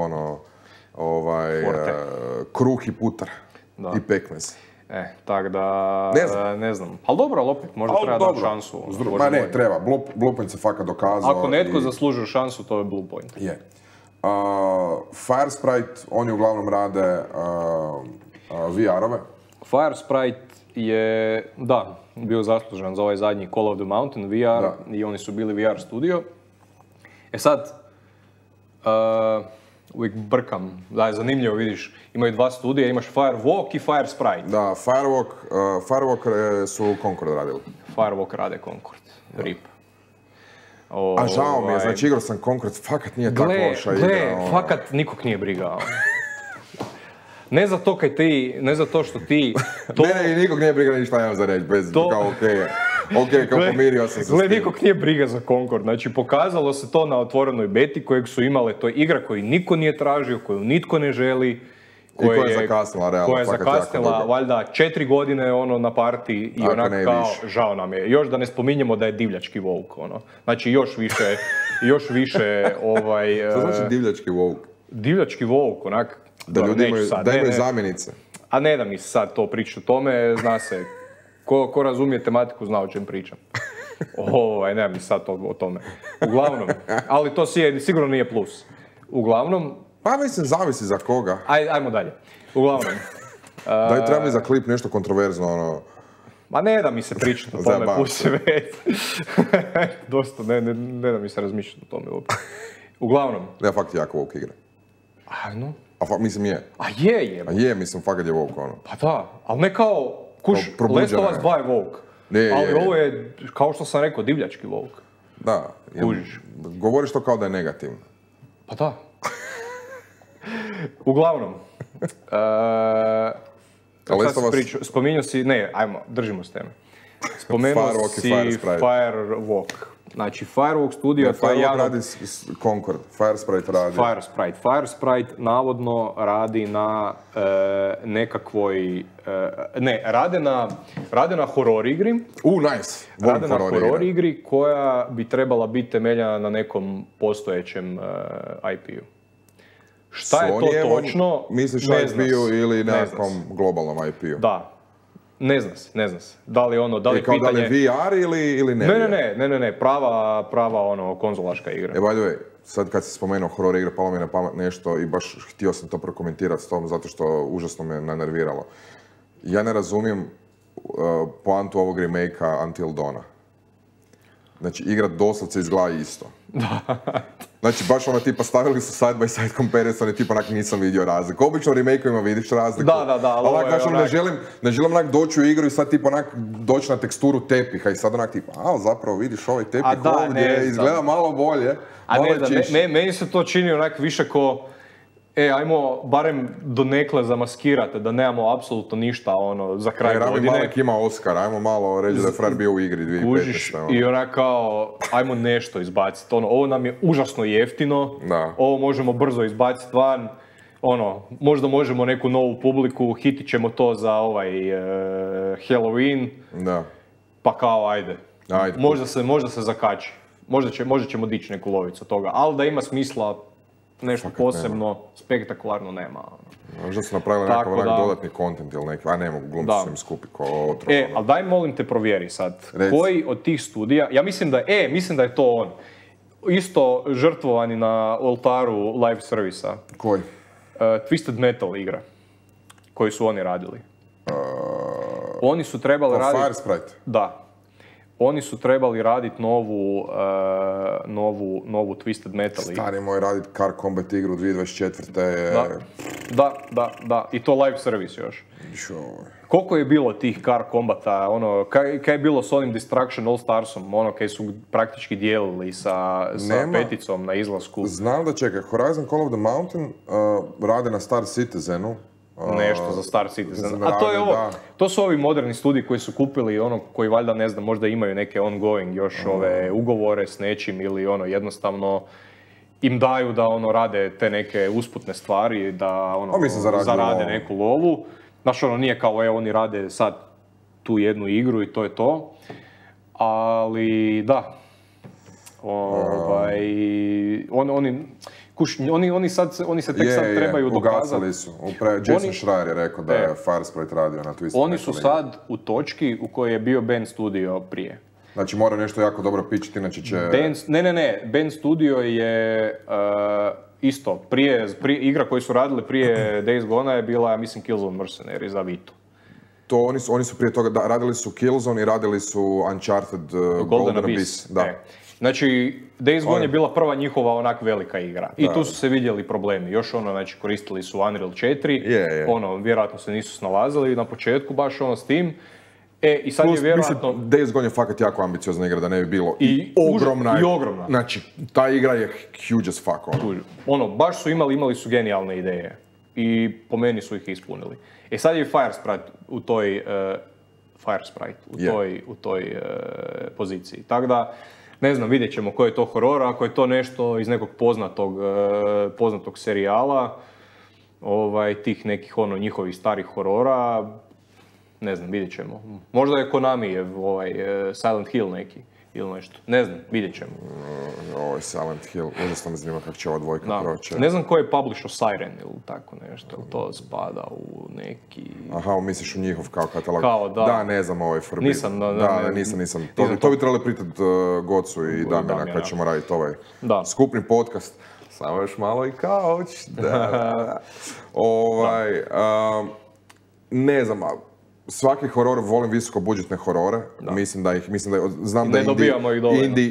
kruh i putar. I pekmez. Tak da, ne znam. Ali dobro, ali opet, možda treba dati šansu. Ne, treba. Bluepoint se fakat dokazao. Ako netko zaslužuje šansu, to je Bluepoint. Je. Firesprite, oni uglavnom rade VR-ove. Firesprite je, bio zaslužan za ovaj zadnji Call of the Mountain VR i oni su bili VR studio. sad, uvijek brkam, da je zanimljivo, vidiš, imaju dva studija, imaš Firewalk i Firesprite. Da, Firewalk su Concord radili. Firewalk rade Concord, RIP. A žao mi je, znači igrao sam Concord, fakat nije tako loša igra. Fakat nikog nije briga. Ne za to kaj ti, ne za to što ti... Ne, nikog nije briga ništa imam za reći, bez kao okej, kao pomirio sam se. Gle, nikog nije briga za Concord, znači pokazalo se to na otvorenoj beti kojeg su imale, to je igra koju niko nije tražio, koju nitko ne želi. Koja je zakasnila, realno. Koja je zakasnila, valjda 4 godine na party i onako kao, žao nam je. Još da ne spominjemo da je divljački woke, Znači još više Što znači divljački woke? Divljački woke, onak... Da ljudi imaju zamjenice. A ne da mi sad to pričati o tome, zna se. Ko razumije tematiku zna o čem pričam. Ne mi sad to o tome. Uglavnom, ali to sigurno nije plus. Uglavnom... Pa mislim, zavisi za koga. Ajmo dalje. Uglavnom. Daj, treba mi za klip nešto kontroverzno, Ma ne da mi se pričati o tome, pusti već. Dosta, ne da mi se razmišljati o tome uopće. Uglavnom. Ja fakt jako woke igra. Ajno. Mislim je. Je. Mislim, fakat je woke, Pa da, ali ne kao, Last of Us 2 je woke. Ali ovo je, kao što sam rekao, divljački woke. Da. Kužiš. Govoriš to kao da je negativno. Pa da. Uglavnom. Spominjao si, držimo s teme. Spomenuo si Firewalk. Znači, Firewalk studio, to je Firewalk radi Concord, Firesprite radi. Firesprite navodno radi na nekakvoj... rade na horror igri. Nice. Rade na horror igri koja bi trebala biti temeljena na nekom postojećem IP-u. Šta je to točno? Misliš IP-u ili nekakvom globalnom IP-u? Da. Ne zna se. Da li pitanje... Da li VR ili ne? Ne. Prava konzolaška igra. By the way, sad kad si spomenuo horror igre, palo mi je na pamet nešto i baš htio sam to prokomentirati s tom, zato što užasno me nanerviralo. Ja ne razumijem poantu ovog remake-a Until Dawna. Znači, igra doslovce izgleda isto. Znači, baš tipa stavili su side by side comparison i tipa nisam vidio razliku. Obično u remake-ovima vidiš razliku. Da, ali ne želim doći u igru i sad tipa doći na teksturu tepiha i sad tipa, zapravo vidiš ovaj tepih ovdje, izgleda malo bolje. Meni se to čini više ko, ajmo barem donekle zamaskirati, da nemamo apsolutno ništa za kraj godine. Rami Malek ima Oscar, ajmo malo reći da je frajer bio u igri 2015. I kao, ajmo nešto izbaciti. Ovo nam je užasno jeftino, ovo možemo brzo izbaciti van, možda možemo neku novu publiku, hitit ćemo to za Halloween, pa kao ajde. Možda se zakači. Možda ćemo dići neku lovicu toga, ali da ima smisla nešto posebno, spektakularno nema. Možda su napravili nekakav dodatni content ili neki, ne mogu glumci su im skupi ko otrov. Ali daj molim te provjeri sad, koji od tih studija, ja mislim da je to on, isto žrtvovani na oltaru live servisa. Koji? Twisted Metal igra, koju su oni radili. Oni su trebali raditi... Firesprite? Da. Oni su trebali raditi novu Twisted Metal igru. Stari moj raditi Car Combat igru 2024. Da. I to live service još. Koliko je bilo tih Car Combata, kaj je bilo s onim Destruction All Starsom, kaj su praktički dijelili sa peticom na izlasku. Znam da čekaj, Horizon Call of the Mountain rade na Star Citizenu. Nešto za Star Citizen. A to je to su ovi moderni studiji koji su kupili koji valjda ne znam, možda imaju neke ongoing još ove ugovore s nečim ili jednostavno im daju da rade te neke usputne stvari, da zarade neku lovu. Znaš, nije kao oni rade sad tu jednu igru i to je to. Ali da. Oni se tek sad trebaju dokazati. Ugasili su. Jason Schreier je rekao da je Firesprite radio na Twisted. Oni su sad u točki u kojoj je bio Band Studio prije. Znači mora nešto jako dobro pičiti, inače će... Ne. Band Studio je isto. Igra koju su radili prije Days Gone je bila, ja mislim, Killzone Mercenary za Vitu. To oni su prije toga, radili su Killzone i radili su Uncharted Golden Abyss. Da. Znači, Days Gone je bila prva njihova onak velika igra. I tu su se vidjeli problemi. Još znači, koristili su Unreal 4. Vjerojatno se nisu snalazili na početku baš s tim. I sad je vjerojatno... Days Gone je fakat jako ambiciozna igra, da ne bi bilo. I ogromna. Znači, ta igra je huge as fuck. Baš su imali su genijalne ideje. I po meni su ih ispunili. Sad je Firesprite u toj poziciji. Tako da, ne znam, vidjet ćemo koji je to horor, ako je to nešto iz nekog poznatog serijala, tih nekih njihovih starih horora, ne znam, vidjet ćemo. Možda je Konamijev Silent Hill neki ili nešto, ne znam, vidjet ćemo. Ovo je Silent Hill, užasno me zanima kako će ova dvojka proći. Ne znam ko je publisher Siren ili tako nešto, to spada u neki... Aha, misliš u njihov kao katalog? Kao, da. Da, ne znam, ovaj Forbidden. Nisam. To bi trebali pitati Gocu i Damjana kad ćemo raditi ovaj skupni podcast. Samo još malo i kauč. Ne znam, svaki horor, volim visoko budžetne horore, znam da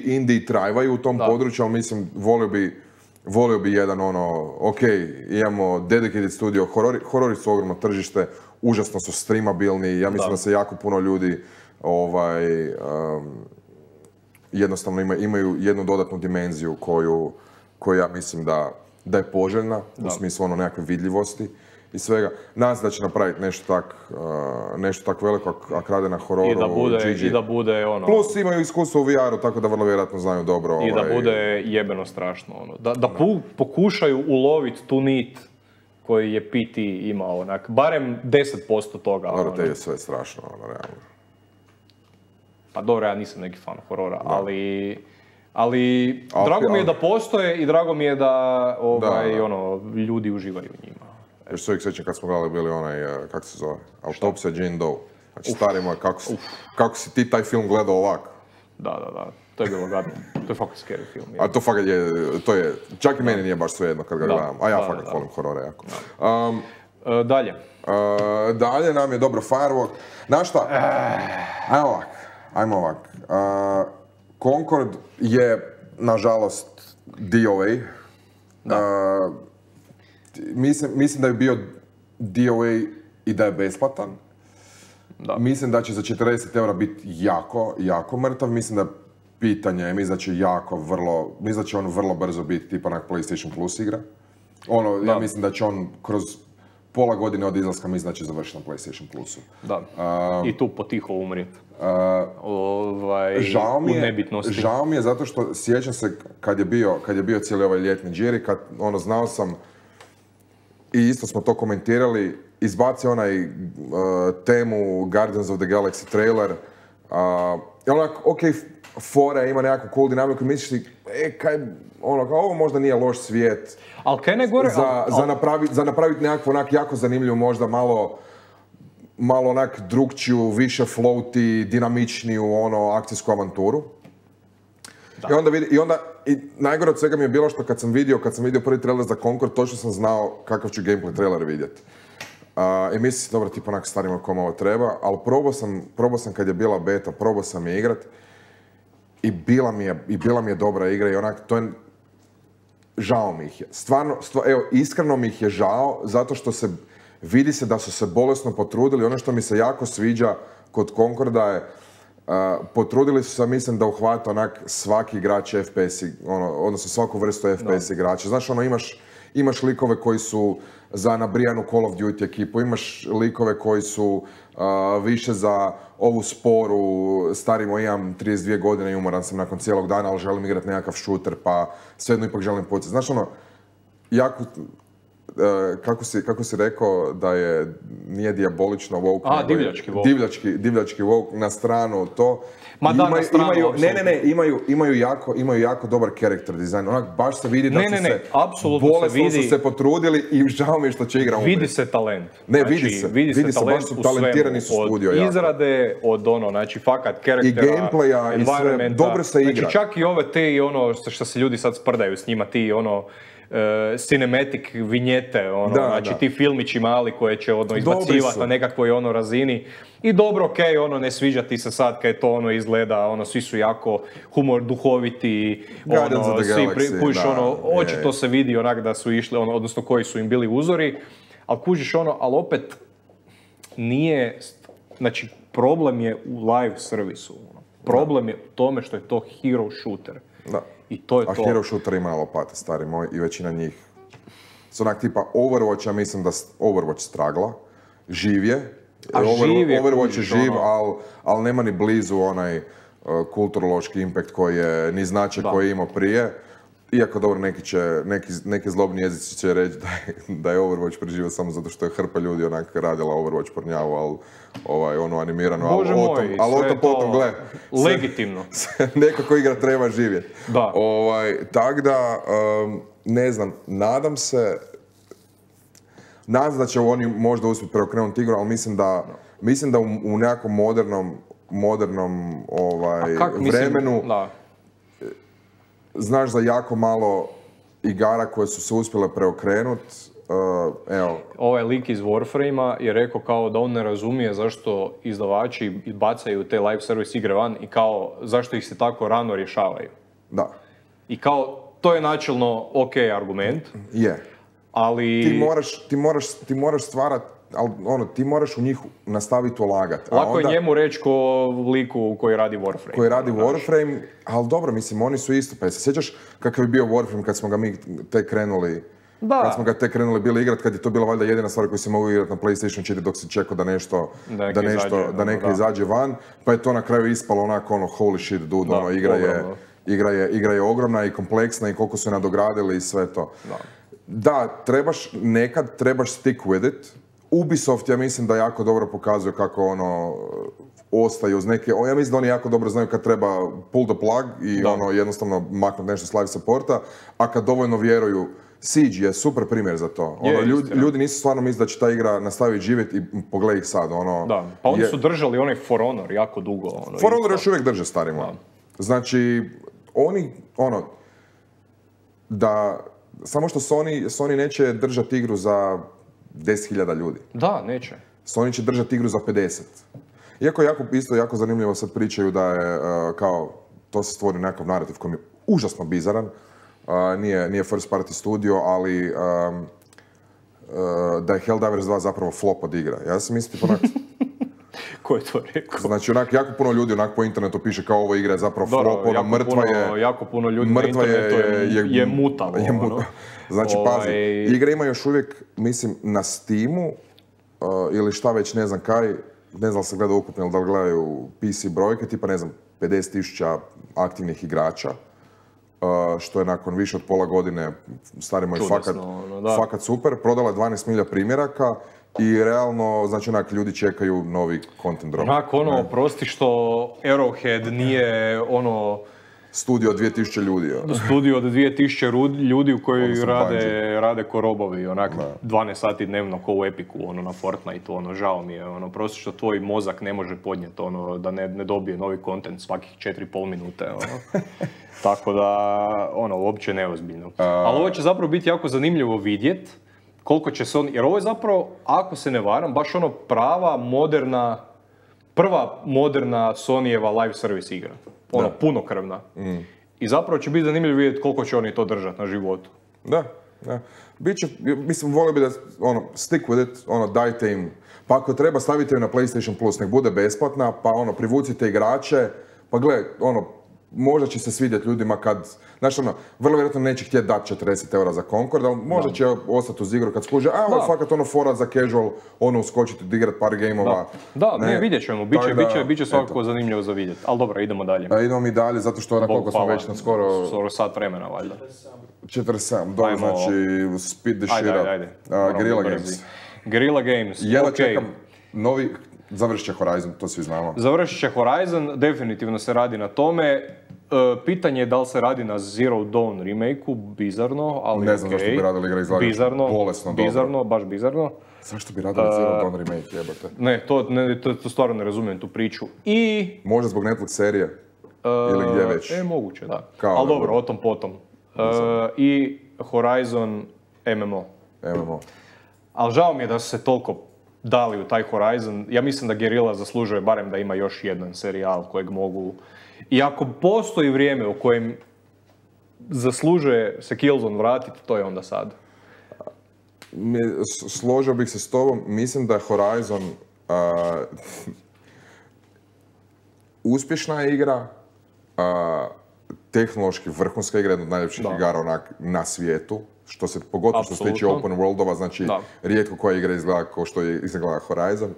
indie trajvaju u tom području, ali mislim, volio bi jedan imamo dedicated studio, horori su ogromno tržište, užasno su streamabilni, ja mislim da se jako puno ljudi jednostavno imaju jednu dodatnu dimenziju koju ja mislim da je poželjna, u smislu nekakve vidljivosti. i svega. Nadam se da će napraviti nešto tak veliko, ako rade na hororu, I da bude ono... Plus imaju iskustvo u VR-u, tako da vrlo vjerojatno znaju dobro. I da bude jebeno strašno, ono. Da pokušaju uloviti tu nit koji je PT imao, onak, barem 10% toga. Dobro, te je sve strašno, ono, realno. Pa dobro, ja nisam neki fan horora, ali drago mi je da postoje i drago mi je da, ono, ljudi uživaju u njima. Još se uvijek sjećam kad smo gledali bili onaj, kako se zove, Autopsija Jane Doe. Znači, stari moj, kako si ti taj film gledao ovako? Da, to je bilo gadno. To je fakat scary film. A to fakat je, čak i meni nije baš svejedno kad ga gledam, a ja fakat volim horore jako. Dalje. Dalje nam je dobro Firewalk. Znaš šta? Ajmo ovak. Concord je, nažalost, DOA. Mislim da je bio DOA i da je besplatan. Da. Mislim da će za 40 eura biti jako mrtav. Mislim da pitanje, mislim da će on vrlo brzo biti tipa onak PlayStation Plus igra. Ja mislim da će on kroz pola godine od izlaska, mislim da će završiti na PlayStation Plusu. Da, i tu potiho umrijeti. Žao mi je zato što sjećam se kad je bio cijeli ovaj ljetni džiri, kad znao sam i isto smo to komentirali, izbacio onaj temu Guardians of the Galaxy trailer. Fora ima nekakvu cool dinamiku, misliš ti, ovo možda nije loš svijet. Ali kaj ne gore? Za napraviti nekakvu jako zanimljivu, možda malo onak drugčiju, više floaty, dinamičniju akcijsku avanturu. I najgore od svega mi je bilo što kad sam vidio prvi trailer za Concord, točno sam znao kakav ću gameplay trailer vidjeti. I mislim, dobro, tipa onak starima kome ovo treba, ali probao sam kad je bila beta, probao sam je igrat i bila mi je dobra igra i onak, žao mi ih je. Iskreno mi ih je žao, zato što vidi se da su se bolesno potrudili. Ono što mi se jako sviđa kod Concorda je, potrudili su se, mislim, da uhvata onak svaki igrač FPS, odnosno svaku vrstu FPS igrača. Znaš, imaš likove koji su za nabrijanu Call of Duty ekipu, imaš likove koji su više za ovu sporu, starimo, imam 32 godine i umoran sam nakon cijelog dana, ali želim igrati nekakav shooter, pa svejedno ipak želim pucati. Znaš, jako, kako si rekao da nije dijabolično woke, divljački woke. Divljački woke, na stranu to. Ma da, na stranu, imaju jako dobar character design. Onak, baš se vidi da bolesno su se potrudili i žao mi je što će igra umreti. Vidi se talent. Vidi se, baš su talentirani su studio. Od izrade, znači fakat karaktera, i gameplaya, i sve, dobro se igra. Znači čak i ove te i što se ljudi sad sprdaju s njima, ti cinematic vinjete, ti filmići mali koje će izbacivati na nekakvoj razini. I dobro, okej, ne sviđa ti se sad kad to izgleda, svi su jako humor duhoviti, očito se vidi onak da su išli, odnosno koji su im bili uzori, ali kužiš ali opet nije, znači problem je u live servisu, problem je u tome što je to hero shooter. Da. I to je to. A hero shooter ima lopate, stari moj, i većina njih su onak tipa Overwatch, ja mislim da Overwatch stragla, živ je. Overwatch je živ, ali nema ni blizu onaj kulturološki impact koji je, ni značaj koji je imao prije. Iako dobro, neki zlobni jezici će reći da je Overwatch preživio samo zato što je hrpa ljudi onak radila Overwatch pornjavu, ali animirano. Bože moj, sve je to legitimno. Nekako igra treba živjeti. Da. Tako da, ne znam, nadam se da će oni možda uspjeti preokrenuti igru, ali mislim da u nekakvom modernom vremenu znaš za jako malo igara koje su se uspjele preokrenuti. Ovaj lik iz Warframe-a je rekao kao da on ne razumije zašto izdavači bacaju te live service igre van i kao zašto ih se tako rano rješavaju. Da. I kao, to je načelno ok argument. Je. Ali... Ti moraš stvarati, ali ti moraš u njih nastaviti ulagati. Lako je njemu reći ko liku koji radi Warframe. Koji radi Warframe, ali dobro, mislim, oni su isto. Pa se sjećaš kakav je bio Warframe kad smo ga mi tek krenuli Kad smo ga tek krenuli bili igrat, kad je to bila valjda jedina stvar koju si mogu igrati na PlayStation 4 dok si čekao da neka izađe van, pa je to na kraju ispalo onako holy shit dude, igra je ogromna i kompleksna i koliko su je nadogradili i sve to. Da, trebaš stick with it. Ubisoft, ja mislim da jako dobro pokazuje kako ostaju uz neke, ja mislim da oni jako dobro znaju kad treba pull the plug i jednostavno maknuti nešto s live supporta, a kad dovoljno vjeruju, Siege je super primjer za to. Ljudi nisu stvarno mislili da će ta igra nastaviti živjeti i pogledaj ih sad. Pa oni su držali onaj For Honor jako dugo. For Honor još uvijek drže, stari moj. Znači, oni, samo što Sony neće držati igru za 10.000 ljudi. Da, neće. Sony će držati igru za 50. Iako jako zanimljivo sad pričaju da je to se stvori nekakav narativ koji je užasno bizaran. Nije first party studio, ali da je Helldivers 2 zapravo flop od igra. Ja sam mislio onak... Ko je to rekao? Znači, jako puno ljudi po internetu piše kao ovo igra je zapravo flop, mrtva je... Jako puno ljudi na internetu je mutalo. Znači, pazi, igra ima još uvijek, mislim, na Steamu, ili šta već, ne znam kaj, ne znam da se gleda ukupno ili da gledaju PC brojke, tipa, ne znam, 50.000 aktivnih igrača, što je nakon više od pola godine, stari moj, fakat super. Prodala je 12 milija primjeraka i realno, znači, ljudi čekaju novi content drop. Prosti što Arrowhead nije studio od 2000 ljudi. Studio od 2000 ljudi u koji rade ko robovi, 12 sati dnevno ko u Epiku, na Fortnite, žao mi je, prosto što tvoj mozak ne može podnijeti, da ne dobije novi content svakih 4,5 minute, Tako da, uopće neozbiljno. Ali ovo će zapravo biti jako zanimljivo vidjet koliko će se jer ovo je zapravo, ako se ne varam, baš prva moderna Sonyjeva live service igra. Punokrvna. I zapravo će biti zanimljivo vidjeti koliko će oni to držati na životu. Da. Biće, mislim, volio bi da, stick with it, dajte im, pa ako treba stavite ju na PlayStation Plus, nek bude besplatna, pa privucite igrače, pa gle, možda će se svidjeti ljudima kad, znaš vrlo vjerojatno neće htjeti dati 40 eura za Concord, ali možda će ostati uz igru kad skuže, ovo je fakat fora za casual, uskočiti, odigrat par gameova. Vidjet ćemo, bit će svakako zanimljivo za vidjeti, ali dobro, idemo dalje. Idemo mi dalje, zato što koliko smo već na skoro sat vremena, valjda. 47, dobro, znači, speed the shit up. Ajde. Guerrilla Games. Jedva čekam novi... Završit će Horizon, to svi znamo. Završit će Horizon, definitivno se radi na tome. Pitanje je da li se radi na Zero Dawn remake-u, bizarno, ali ne znam zašto bi radili igra izlagač, bolesno dobro. Bizarno, baš bizarno. Zašto bi radili Zero Dawn remake, jebate? Ne, to stvarno ne razumijem tu priču. I... Možda zbog Netflix serije? Ili gdje već? Moguće, da. Ali dobro, o tom potom. I Horizon MMO. Ali žao mi je da su se toliko dali u taj Horizon. Ja mislim da Guerrilla zaslužuje barem da ima još jedan serijal kojeg mogu... I ako postoji vrijeme u kojem zaslužuje se Killzone vratiti, to je onda sad. Složio bih se s tobom. Mislim da je Horizon uspješna igra, tehnološki vrhunska igra, jedna od najljepših igara na svijetu. Pogotovo što se tiče open worldova, znači rijetko koja igra izgleda kao što je izgleda Horizon.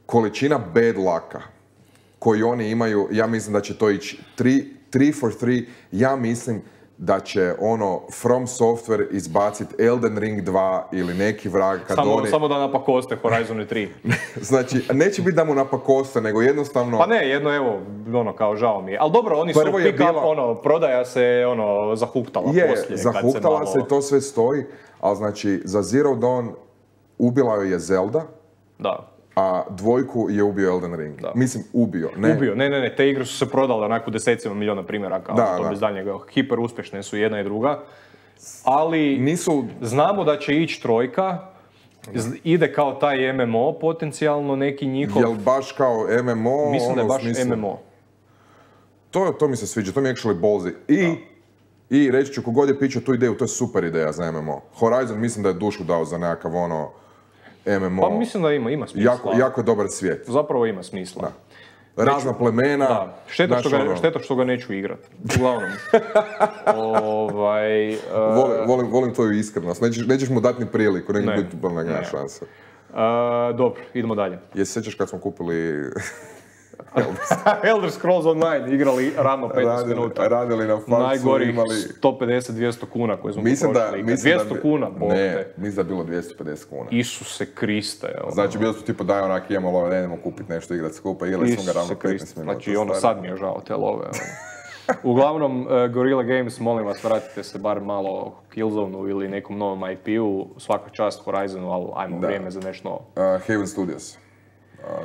Količina bad lucka koju oni imaju, ja mislim da će to ići 3 for 3, ja mislim da će From Software izbaciti Elden Ring 2 ili neki vrag kad Samo da napakoste Horizon 3. Znači, neće biti da mu napakoste, nego jednostavno... Pa ne, kao žao mi je. Ali dobro, oni su prodaja se zahuktala poslije. Zahuktala se i to sve stoji, ali znači, za Zero Dawn ubila joj je Zelda. Da. A dvojku je ubio Elden Ring. Da. Mislim, ubio. Ne, te igre su se prodale onako desecima milijuna primjeraka, bez daljnjega. Hiper uspješne su jedna i druga. Ali znamo da će ići trojka, ide kao taj MMO potencijalno neki njihov... Jel baš kao MMO? Mislim da je baš MMO. To mi se sviđa, to mi je actually ballsy. I reći ću, kogod je pićao tu ideju, to je super ideja za MMO. Horizon mislim da je dušu dao za nekakav MMO. Pa mislim da ima smisla. Jako je dobar svijet. Zapravo ima smisla. Da. razna plemena. Da, šteta što ga neću igrat. Uglavnom. Volim tvoju iskrenost. Nećeš mu dati ni priliku, neće biti nema šanse. Dobro, idemo dalje. Jesi sjećaš kad smo kupili Elder Scrolls Online, igrali ravno 15 minuta. Radili na faksu, najgorih 150-200 kuna koje smo potrošili. 200 kuna, ne, mislim da je bilo 250 kuna. Isuse Kriste. Znači, bilo su tipo daj onak, imamo love, ne idemo kupiti nešto, igrat skupa, igrali smo ga ravno 15 minuta. Znači, sad mi je žao te love. Uglavnom, Guerrilla Games, molim vas, vratite se bar malo Killzone-u ili nekom novom IP-u, svaka čast Horizonu, ali ajmo vrijeme za nešto novo. Haven Studios.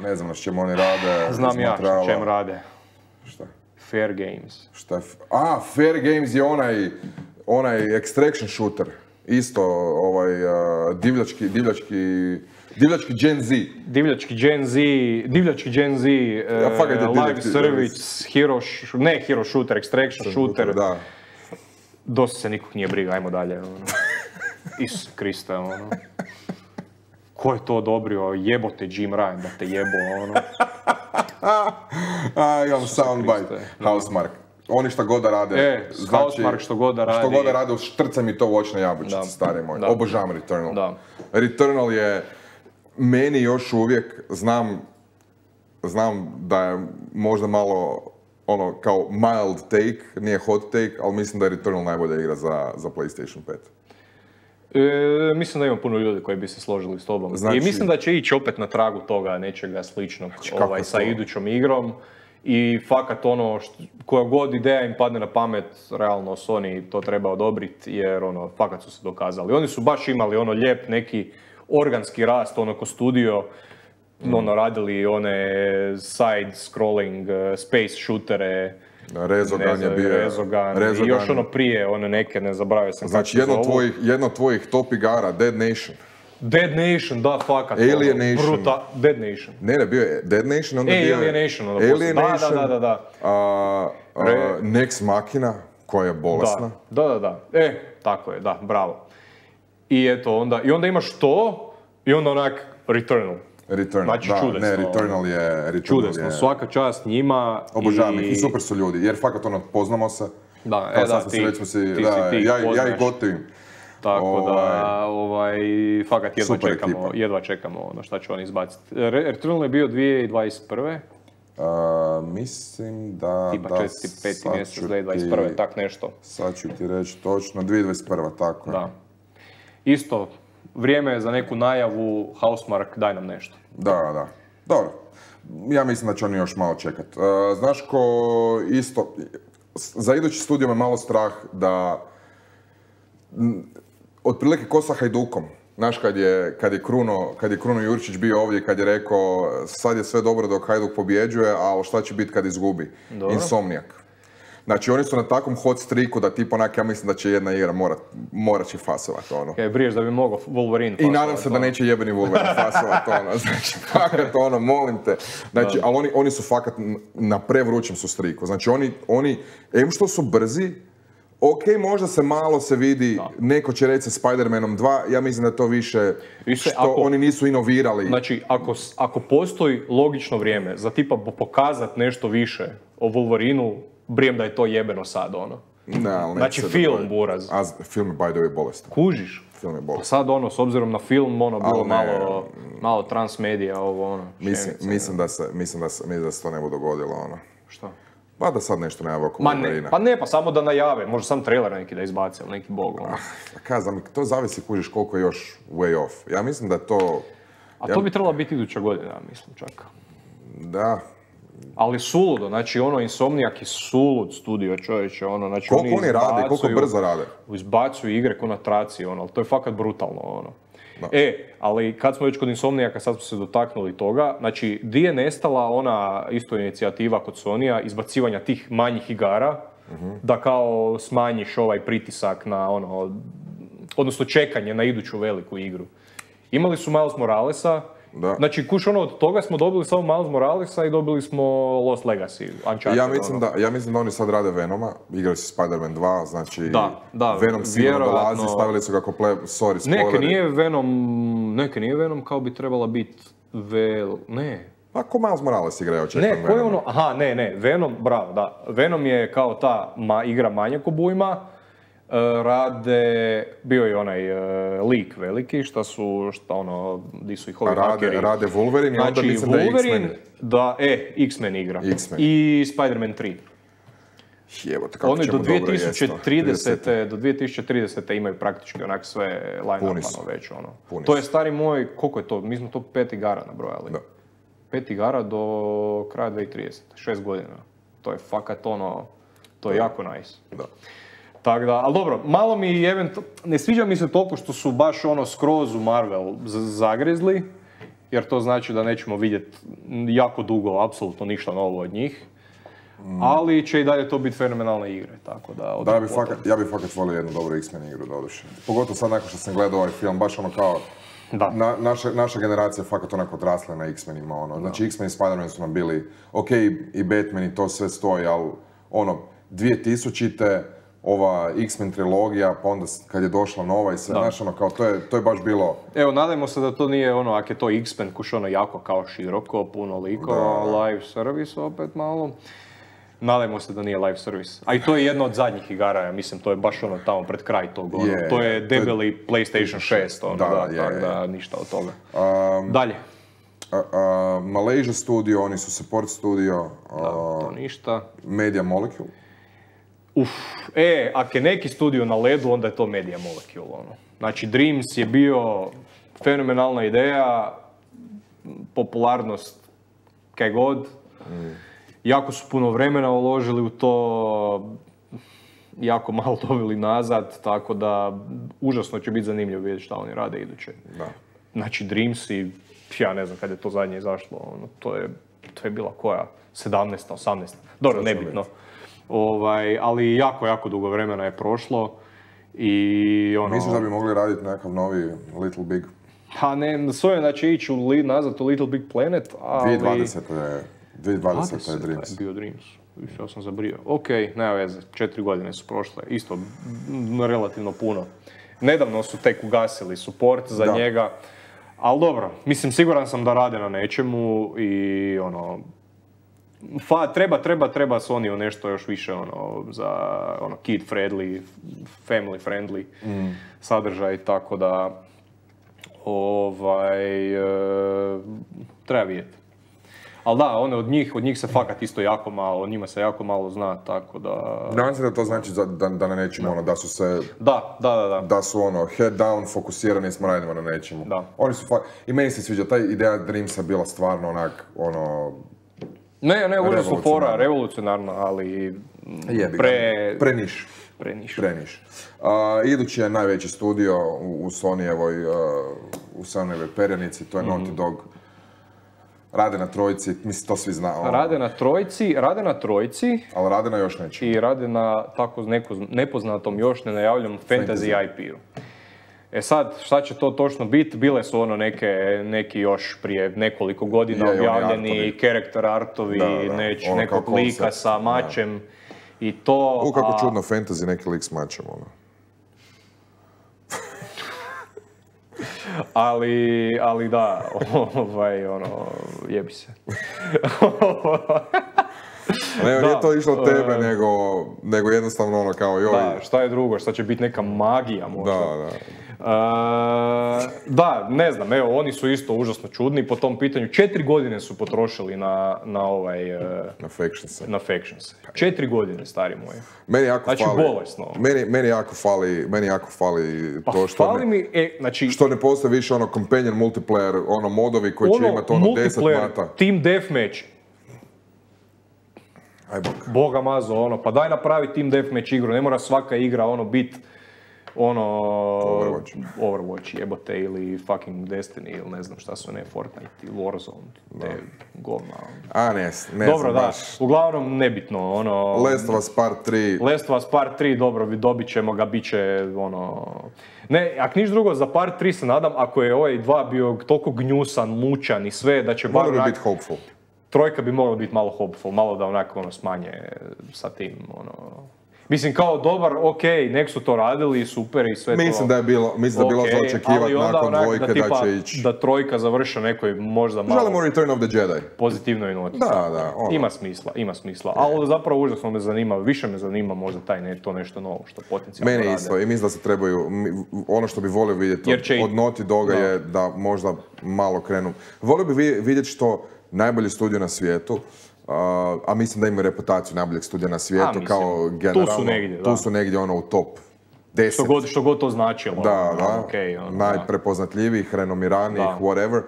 Ne znam na čemu oni rade. Znam ja na čemu rade. Šta? Fair Games. Šta? Fair Games je onaj extraction shooter. Isto, divljački Gen Z. Divljački Gen Z, live service, hero shooter, extraction shooter. Da. Dosta se nikog nije briga, ajmo dalje. Isus Kriste, ko je to odobrio? Jebote Jim Ryan, da te jebo, imam soundbite. Housemarque. Oni šta god da rade. Housemarque što god da radi. Što god da rade, štrca mi to u očne jabučice, stari moj. Obožavam Returnal. Da. Returnal je, meni još uvijek, znam da je možda malo kao mild take, nije hot take, ali mislim da je Returnal najbolja igra za PlayStation 5. Mislim da ima puno ljudi koji bi se složili s tobom. Znači, i mislim da će ići opet na tragu toga nečega sličnog sa idućom igrom. I fakat koja god ideja im padne na pamet, realno Sony to treba odobriti jer fakat su se dokazali. Oni su baš imali lijep neki organski rast, ko studio, radili one side-scrolling space shootere, Rezogan je bio. I još prije, neke, ne zaboravio sam. Znači, jedno od tvojih top igara, Dead Nation. Dead Nation, da, fakat. Alien Nation. Dead Nation. Ne, bio je Dead Nation, onda bio je... Alienation, da. Nex Machina, koja je bolesna. Da. Tako je, da, bravo. I eto, onda imaš to, i onda onak Returnal. Znači, čudesno. Ne, Returnal je... Čudesno, svaka čast njima. Obožavam ih i super su ljudi, jer fakat poznamo se. Da, ja ih gotivim. Tako da, fakat jedva čekamo šta će oni izbaciti. Returnal je bio 2021. Mislim da... Tipa 4-5 mjesec 2021. tak nešto. Sad ću ti reći točno, 2021. tako je. Da. Isto, vrijeme je za neku najavu, Housemarque, daj nam nešto. Da. Dobro. Ja mislim da će oni još malo čekat. Znaš ko isto... Za idući studio me malo strah da... Otprilike ko sa Hajdukom. Znaš, kad je Kruno Jurčić bio ovdje, kad je rekao sad je sve dobro dok Hajduk pobjeđuje, ali šta će biti kad izgubi? Dobro. Insomniac. Znači, oni su na takvom hot streaku da tip onak, ja mislim da će jedna igra morat će fasovat, Briješ da bi mogao Wolverine fasovat. I nadam se da neće jebeni Wolverine fasovat, Znači, fakat, molim te. Znači, ali oni su fakat na prevrućem su streaku. Znači, oni, što su brzi, ok, možda se malo vidi, neko će reći sa Spider-Manom 2, ja mislim da je to više što oni nisu inovirali. Znači, ako postoji logično vrijeme za tipa pokazat nešto više o Wolverineu, brijem da je to jebeno sad, Znači, film, buraz. Film je, by the way, bolestan. Kužiš? Film je bolestan. Sad, s obzirom na film, bilo malo transmedija, Mislim da se to ne bude dogodilo, Šta? Pa da sad nešto najave oko Wolverina. Pa samo da najave, možda sam trailer neki da izbaci, ali neki bog. Kazam, to zavisi kužiš koliko je još way off. Ja mislim da je to... To bi trebala biti iduća godina, mislim čak. Da. Ali suludo, znači Insomniac je sulud studio, čovječe, znači koliko oni rade, koliko brzo rade? Izbacuju igre ko na traci, ali to je fakat brutalno, ali kad smo već kod Insomniaca, sad smo se dotaknuli toga, znači, di je nestala ona isto inicijativa kod Sonija, izbacivanja tih manjih igara, da kao smanjiš ovaj pritisak na odnosno čekanje na iduću veliku igru. Imali su Miles Moralesa, znači, od toga smo dobili samo Miles Moralesa i dobili smo Lost Legacy, Uncharted. Ja mislim da oni sad rade Venoma, igrali su Spider-Man 2, znači Venom sigurno dolazi, stavili su ga spoileri. Neke nije Venom kao bi trebala biti A ko Miles Morales igra, očekujem Ne, ko je ono, aha, ne, Venom, bravo, da. Venom je kao ta igra manjak obujma, rade, bio je onaj lik veliki, di su ih ovi hakeri. Rade Wolverine i onda znači, mislim Wolverine, da je X-Men. X-Men igra. X-Men. I Spider-Man 3. Jebote, kako Oni ćemo do dobro jest. 2030. imaju praktički onak sve line-upano već, ono. To je stari moj, koliko je to, mi smo to 5 igara nabrojali. Da. 5 igara do kraja 2030, 6 godina. To je fakat ono, to je jako nice. Da. Tako da, ali dobro, malo mi ne sviđa mi se toliko što su baš ono skroz u Marvel zagrezli, jer to znači da nećemo vidjeti jako dugo, apsolutno ništa novo od njih. Ali će i dalje to biti fenomenalne igre, tako da... Da, ja bi fakat volio jednu dobru X-Men igru, doduše. Pogotovo sad nakon što sam gledao ovaj film, baš ono kao... Da. Naša generacija je fakat onako odrasla na X-Menima, ono. Znači, X-Men i Spider-Man su nam bili, ok, i Batman i to sve stoji, ali ono, 2000-te, ova X-Men trilogija, pa onda kad je došla nova i sve, znaš, ono, kao, to je baš bilo... Evo, nadajmo se da to nije ono, ako je to X-Men, kuš ono jako kao široko, puno likova, live service opet malo. Nadajmo se da nije live service. A i to je jedna od zadnjih igara, ja mislim, to je baš ono tamo pred kraj tog, ono. To je debeli PlayStation 6, ono, da, ništa od toga. Dalje. Malaysia Studio, oni su support studio. To ništa. Media Molecule. Ako je neki studio na ledu, onda je to Media Molecule, ono. Znači, Dreams je bio fenomenalna ideja, popularnost kaj god. Jako su puno vremena uložili u to, jako malo dobili nazad, tako da užasno će biti zanimljivo vidjeti šta oni rade iduće. Da. Znači Dreams i ja ne znam kad je to zadnje izašlo, ono, to je bila koja? 17. 18. Dobro, nebitno. Ali jako dugo vremena je prošlo i ono... Misliš da bi mogli raditi nekakav novi Little Big? Pa ne, svojom da će ići nazad u Little Big Planet, ali... 2020. je Dreams. Je bio Dreams. Ja sam zabrio. Ok, nema veze, 4 godine su prošle. Isto, relativno puno. Nedavno su tek ugasili support za njega. Ali dobro, mislim, siguran sam da rade na nečemu i ono... Treba Sony nešto još više ono, za ono, kid friendly, family friendly sadržaj, tako da... treba vidjeti. Ali da, one od njih se fakat isto jako malo, o njima se jako malo zna, tako da... Nadam se da to znači da na nečemu, ono, da su se... Da. Da su ono, head down, fokusirani smo radimo na nečemu. Da. Oni su i meni se sviđa, ta ideja Dreamsa bila stvarno onak, ono... Ne, užasno fora, revolucionarna, ali... Preniš. Idući je najveći studio u Sonyjevoj perjanici, to je Naughty Dog. Rade na trojci, mislim to svi znamo. Rade na trojci. Ali rade na još nečemu. I rade na tako nepoznatom još nenajavljenom fantasy IP-u. Sad, šta će to točno biti? Bile su ono neki još prije nekoliko godina objavljeni character artovi, nekog lika sa mačem i to... Kako čudno fantasy, neki lik s mačem, ono. ali da, jebi se. Nije to išlo tebe, nego jednostavno ono kao joj. Da, šta je drugo, šta će biti neka magija možda. Da. Da, ne znam, evo, oni su isto užasno čudni po tom pitanju. 4 godine su potrošili na Factions. 4 godine, stari moji. Meni jako znači, fali. Bolesno. Meni jako fali to što ne postoji više ono companion multiplayer, ono modovi koji će imati ono 10 mata. Team Deathmatch. Boga mazo, ono, pa daj napravi Team Deathmatch igru, ne mora svaka igra ono bit Overwatch jebote ili fucking Destiny ili ne znam šta su, ne, Fortnite ili Warzone, te govna. Ne dobro, znam da, baš. Uglavnom nebitno, ono... Last of Us Part 3. Last of Us Part 3, dobro, dobit ćemo ga, bit će, ono... Ne, ako niš drugo, za Part 3 se nadam, ako je ovaj 2 bio toliko gnjusan, mučan i sve, da će bar onak... biti hopeful. Trojka bi mogla biti malo hopeful, malo da onako, ono, smanje sa tim, ono... Mislim, kao dobar, okej, nek su to radili, super i sve to. Mislim da je bilo za očekivati nakon dvojke da će ići. Da trojka završa nekoj možda malo... Želimo Return of the Jedi. Pozitivnoj noti. Da. Ima smisla. Ali zapravo užasno me zanima, više me zanima možda to nešto novo što potencijalno rade. Meni isto i mislim da se trebaju, ono što bi volio vidjeti od Naughty Doga je da možda malo krenu. Volio bi vidjeti što najbolji studio na svijetu, a mislim da imaju reputaciju najboljeg studija na svijetu kao generalno. Tu su negdje ono u top 10. Što god to značilo. Najprepoznatljivijih, renomiranijih, whatever.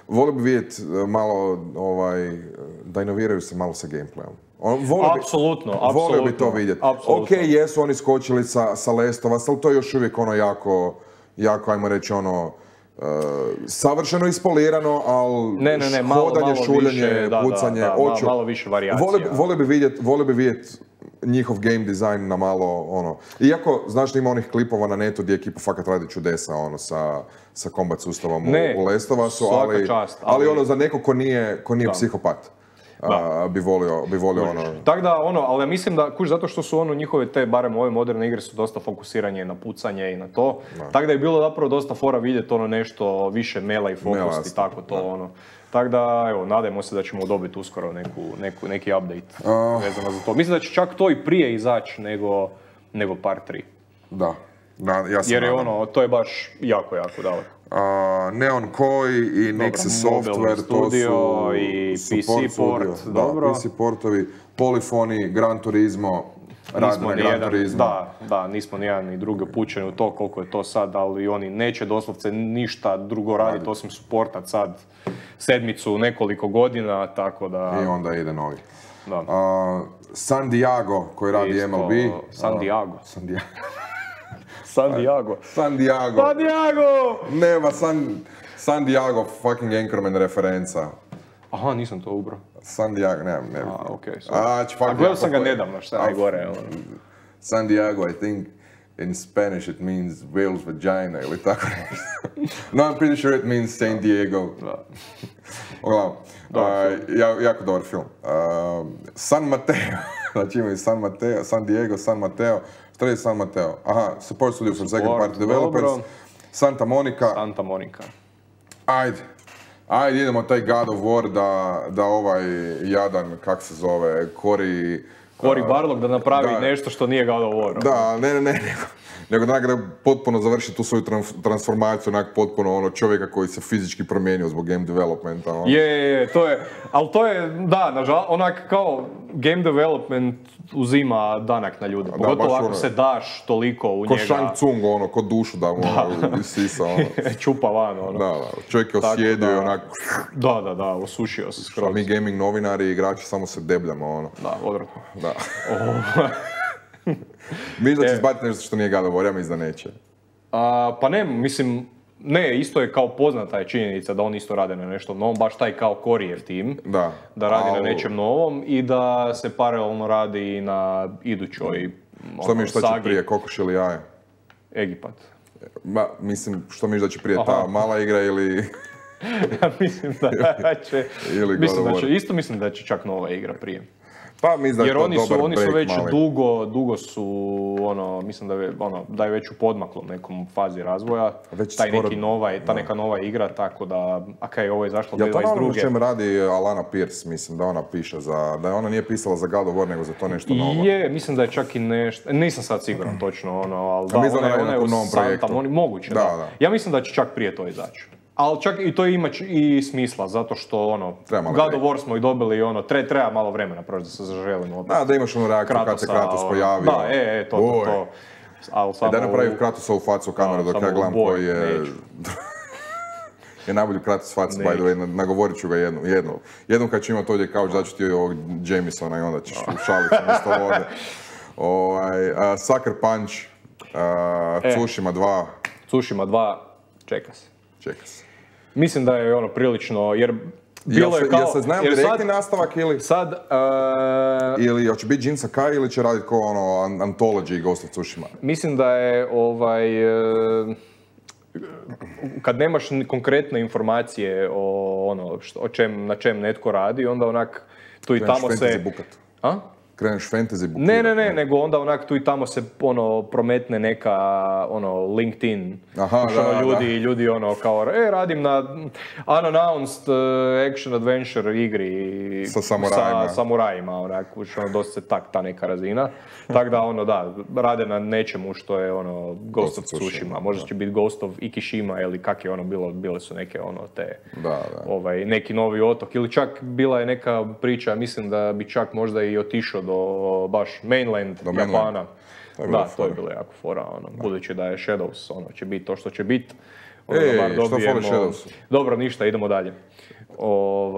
Volio bi vidjeti malo, da inoviraju se malo sa gameplayom. Apsolutno. Volio bi to vidjeti. Ok, jesu oni skočili sa Last of Us, ali to je još uvijek ono jako, ajmo reći ono, savršeno ispolirano, ali hodanje, šuljanje, pucanje, malo više varijacija. Volio bi vidjeti njihov game design na malo, ono, iako, znaš, ima onih klipova na netu gdje ekipa fakat radi čudesa, ono, sa combat sustavom u Last of Usu, ali ono, za neko ko nije psihopat. Bi volio ono... Tako da, ali ja mislim da, zato što su njihove te, barem ove moderne igre su dosta fokusiranje na pucanje i na to, tako da je bilo zapravo dosta fora vidjeti nešto više mela i fokus i tako to, Tako da, evo, nadajmo se da ćemo dobiti uskoro neki update vezano za to. Mislim da će čak to i prije izaći nego Part 3. Da, ja sam jer je to je baš jako daleko. Neon Koi i Nixxes Software, to su i PC port, dobro. PC portovi, Polyphony, Gran Turismo, radimo Gran Turismo. Da, nismo nijedan ni drugi upućeni u to koliko je to sad, ali oni neće doslovce ništa drugo raditi osim supportat sad 7 nekoliko godina, tako da... I onda ide novi. San Diego koji radi MLB. San Diego. Nema, San Diego fucking Anchorman referenca. Aha, nisam to ubrao. San Diego, ne. Okej, gledao sam ga nedavno, šta je gore. San Diego, I think, in Spanish it means whale's vagina, ili tako nešto. No, I'm pretty sure it means San Diego. Uglavnom, jako dobar film. San Mateo, znači imaju San Diego, San Mateo, Straight San Mateo. Aha, support studio for second party developers. Santa Monica. Ajde, idemo taj God of War da ovaj jadan, kak se zove, Cory Barlog da napravi nešto što nije God of War. Da, nego da potpuno završi tu svoju transformaciju, potpuno čovjeka koji se fizički promijenio zbog game developmenta. Ali to je, nažalost, kao game development uzima danak na ljude, pogotovo ako se daš toliko u njega. Ko Shang Tsung, ko dušu da mu isisa. Čupa van, čovjek je osjedio i onak... Da, osušio se skroz. Mi gaming novinari i igrači samo se debljamo, odvratno. Da. Mislim da će izbaciti nešto što nije God of War, ja mislim da neće. Pa ne, isto je kao poznata je činjenica da oni isto rade na nešto novom, baš taj kao Coryjev tim, da radi na nečem novom i da se paralelno radi i na idućoj sagi. Što će prije, kokoš ili jaje? Egipat. Što misliš da će prije ta mala igra ili... Ja mislim da će, isto mislim da će čak nova igra prije. Pa mislim da je to dobar break. Jer oni su već dugo su, mislim da je već u podmaklom nekom fazi razvoja. Ta neka nova igra, tako da, ovo je zašlo 2022. Ja to na ono čem radi Alana Pierce, mislim da ona piše da ona nije pisala za God of War, nego za to nešto novo. Mislim da je čak i nešto, nisam sad siguran točno, ali ona je u novom projektu. Moguće, da. Ja mislim da će čak prije to izaći. Ali čak i to ima i smisla, zato što God of War smo i dobili treba malo vremena proći da se zaželimo. Da imaš reakciju kad se Kratos pojavio. Da, to. Da napravim Kratosovu facu u kameru dok ja gledam koji je... je najbolji Kratos facu, by the way, nagovorit ću ga jednom kad ću imati ovdje kauč, daću ti ovog Jamesona i onda ćeš ušaliti umjesto vode. Sucker Punch, Tsushima 2. Tsushima 2, čeka se. Mislim da je prilično, jer bilo je kao... Jel se znaju direktni nastavak ili... Ili hoće biti Jin Sakai ili će raditi kao Anthology Ghost of Tsushima? Mislim da je kad nemaš konkretne informacije na čem netko radi, onda tu i tamo se... Fantasy bukat. kreneš fantasy bukirati. Ne, nego onda onak tu i tamo se prometne neka LinkedIn. Aha, ljudi kao, radim na unannounced action adventure igri sa samurajima, onak, dosta se ta neka razina. Tako da, rade na nečemu što je Ghost of Tsushima. Možda će biti Ghost of Ikishima ili kak je bilo, bile su neke te, neki novi otok. Ili čak bila je neka priča, mislim da bi čak možda i otišao do baš mainland Japana. To je bilo jako fora, budući da je Shadows, će biti to što će biti. Što fali Shadows? Dobro, ništa, idemo dalje.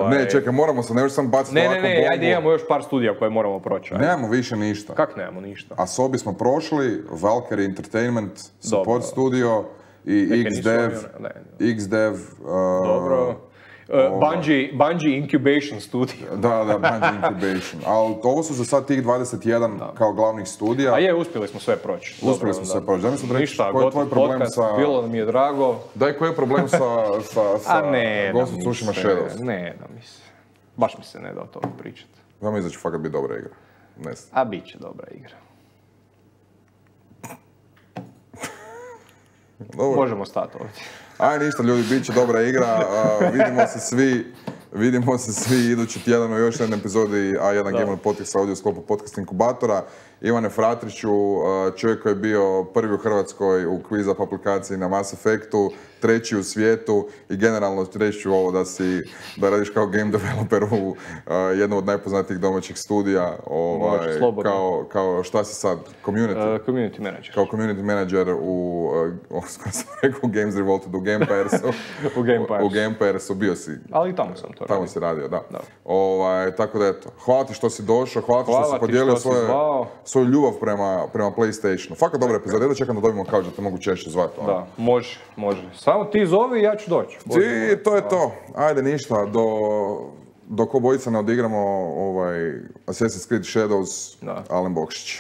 Ne, čekaj, moramo se, ne još sam baciti ovako bombu. Ne, ajde, imamo još par studija koje moramo proći. Nemamo više ništa. Kak nemamo ništa? Asobi smo prošli, Valkyrie Entertainment, support studio i XDev. Dobro. Bungie Incubation Studio. Da, Bungie Incubation. Ali ovo su za sad tih 21 kao glavnih studija. A uspjeli smo sve proći. Uspjeli smo sve proći. Da mi sam reći, koji je tvoj problem sa... Bilo nam je drago. Daj, koji je problem sa Ghost of Tsushima Shadows? Ne da mi se. Baš mi se ne da o tome pričati. Ja mislim da će fakat biti dobra igra. A bit će dobra igra. Možemo stati ovdje. Aj ništa ljudi, bit će dobra igra, vidimo se svi idući tjedan u još jednoj epizodi A1 Gamer podcasta ovdje u sklopu podcast inkubatora. Ivane Fratriću, čovjek koji je bio prvi u Hrvatskoj u quiz up aplikaciji na Mass Effectu, treći u svijetu i generalno reći ću ovo da radiš kao game developer u jednom od najpoznatijih domaćih studija, kao šta si sad, community manager. Kao community manager skoro sam rekao Games Revolted u Gamepairsu. U Gamepairsu bio si. Ali i tamo sam to radio. Tamo si radio, da. Tako da eto, hvala ti što si došao, hvala ti što si podijelio svoju ljubav prema PlayStationu. Fakat dobra epizoda, da čekam da dobijemo kao da te mogu češće zvati. Da, može. Samo ti zovi i ja ću doći. To je to. Ajde ništa, dok obojica ne odigramo Assassin's Creed Shadows, Alen Bokšić.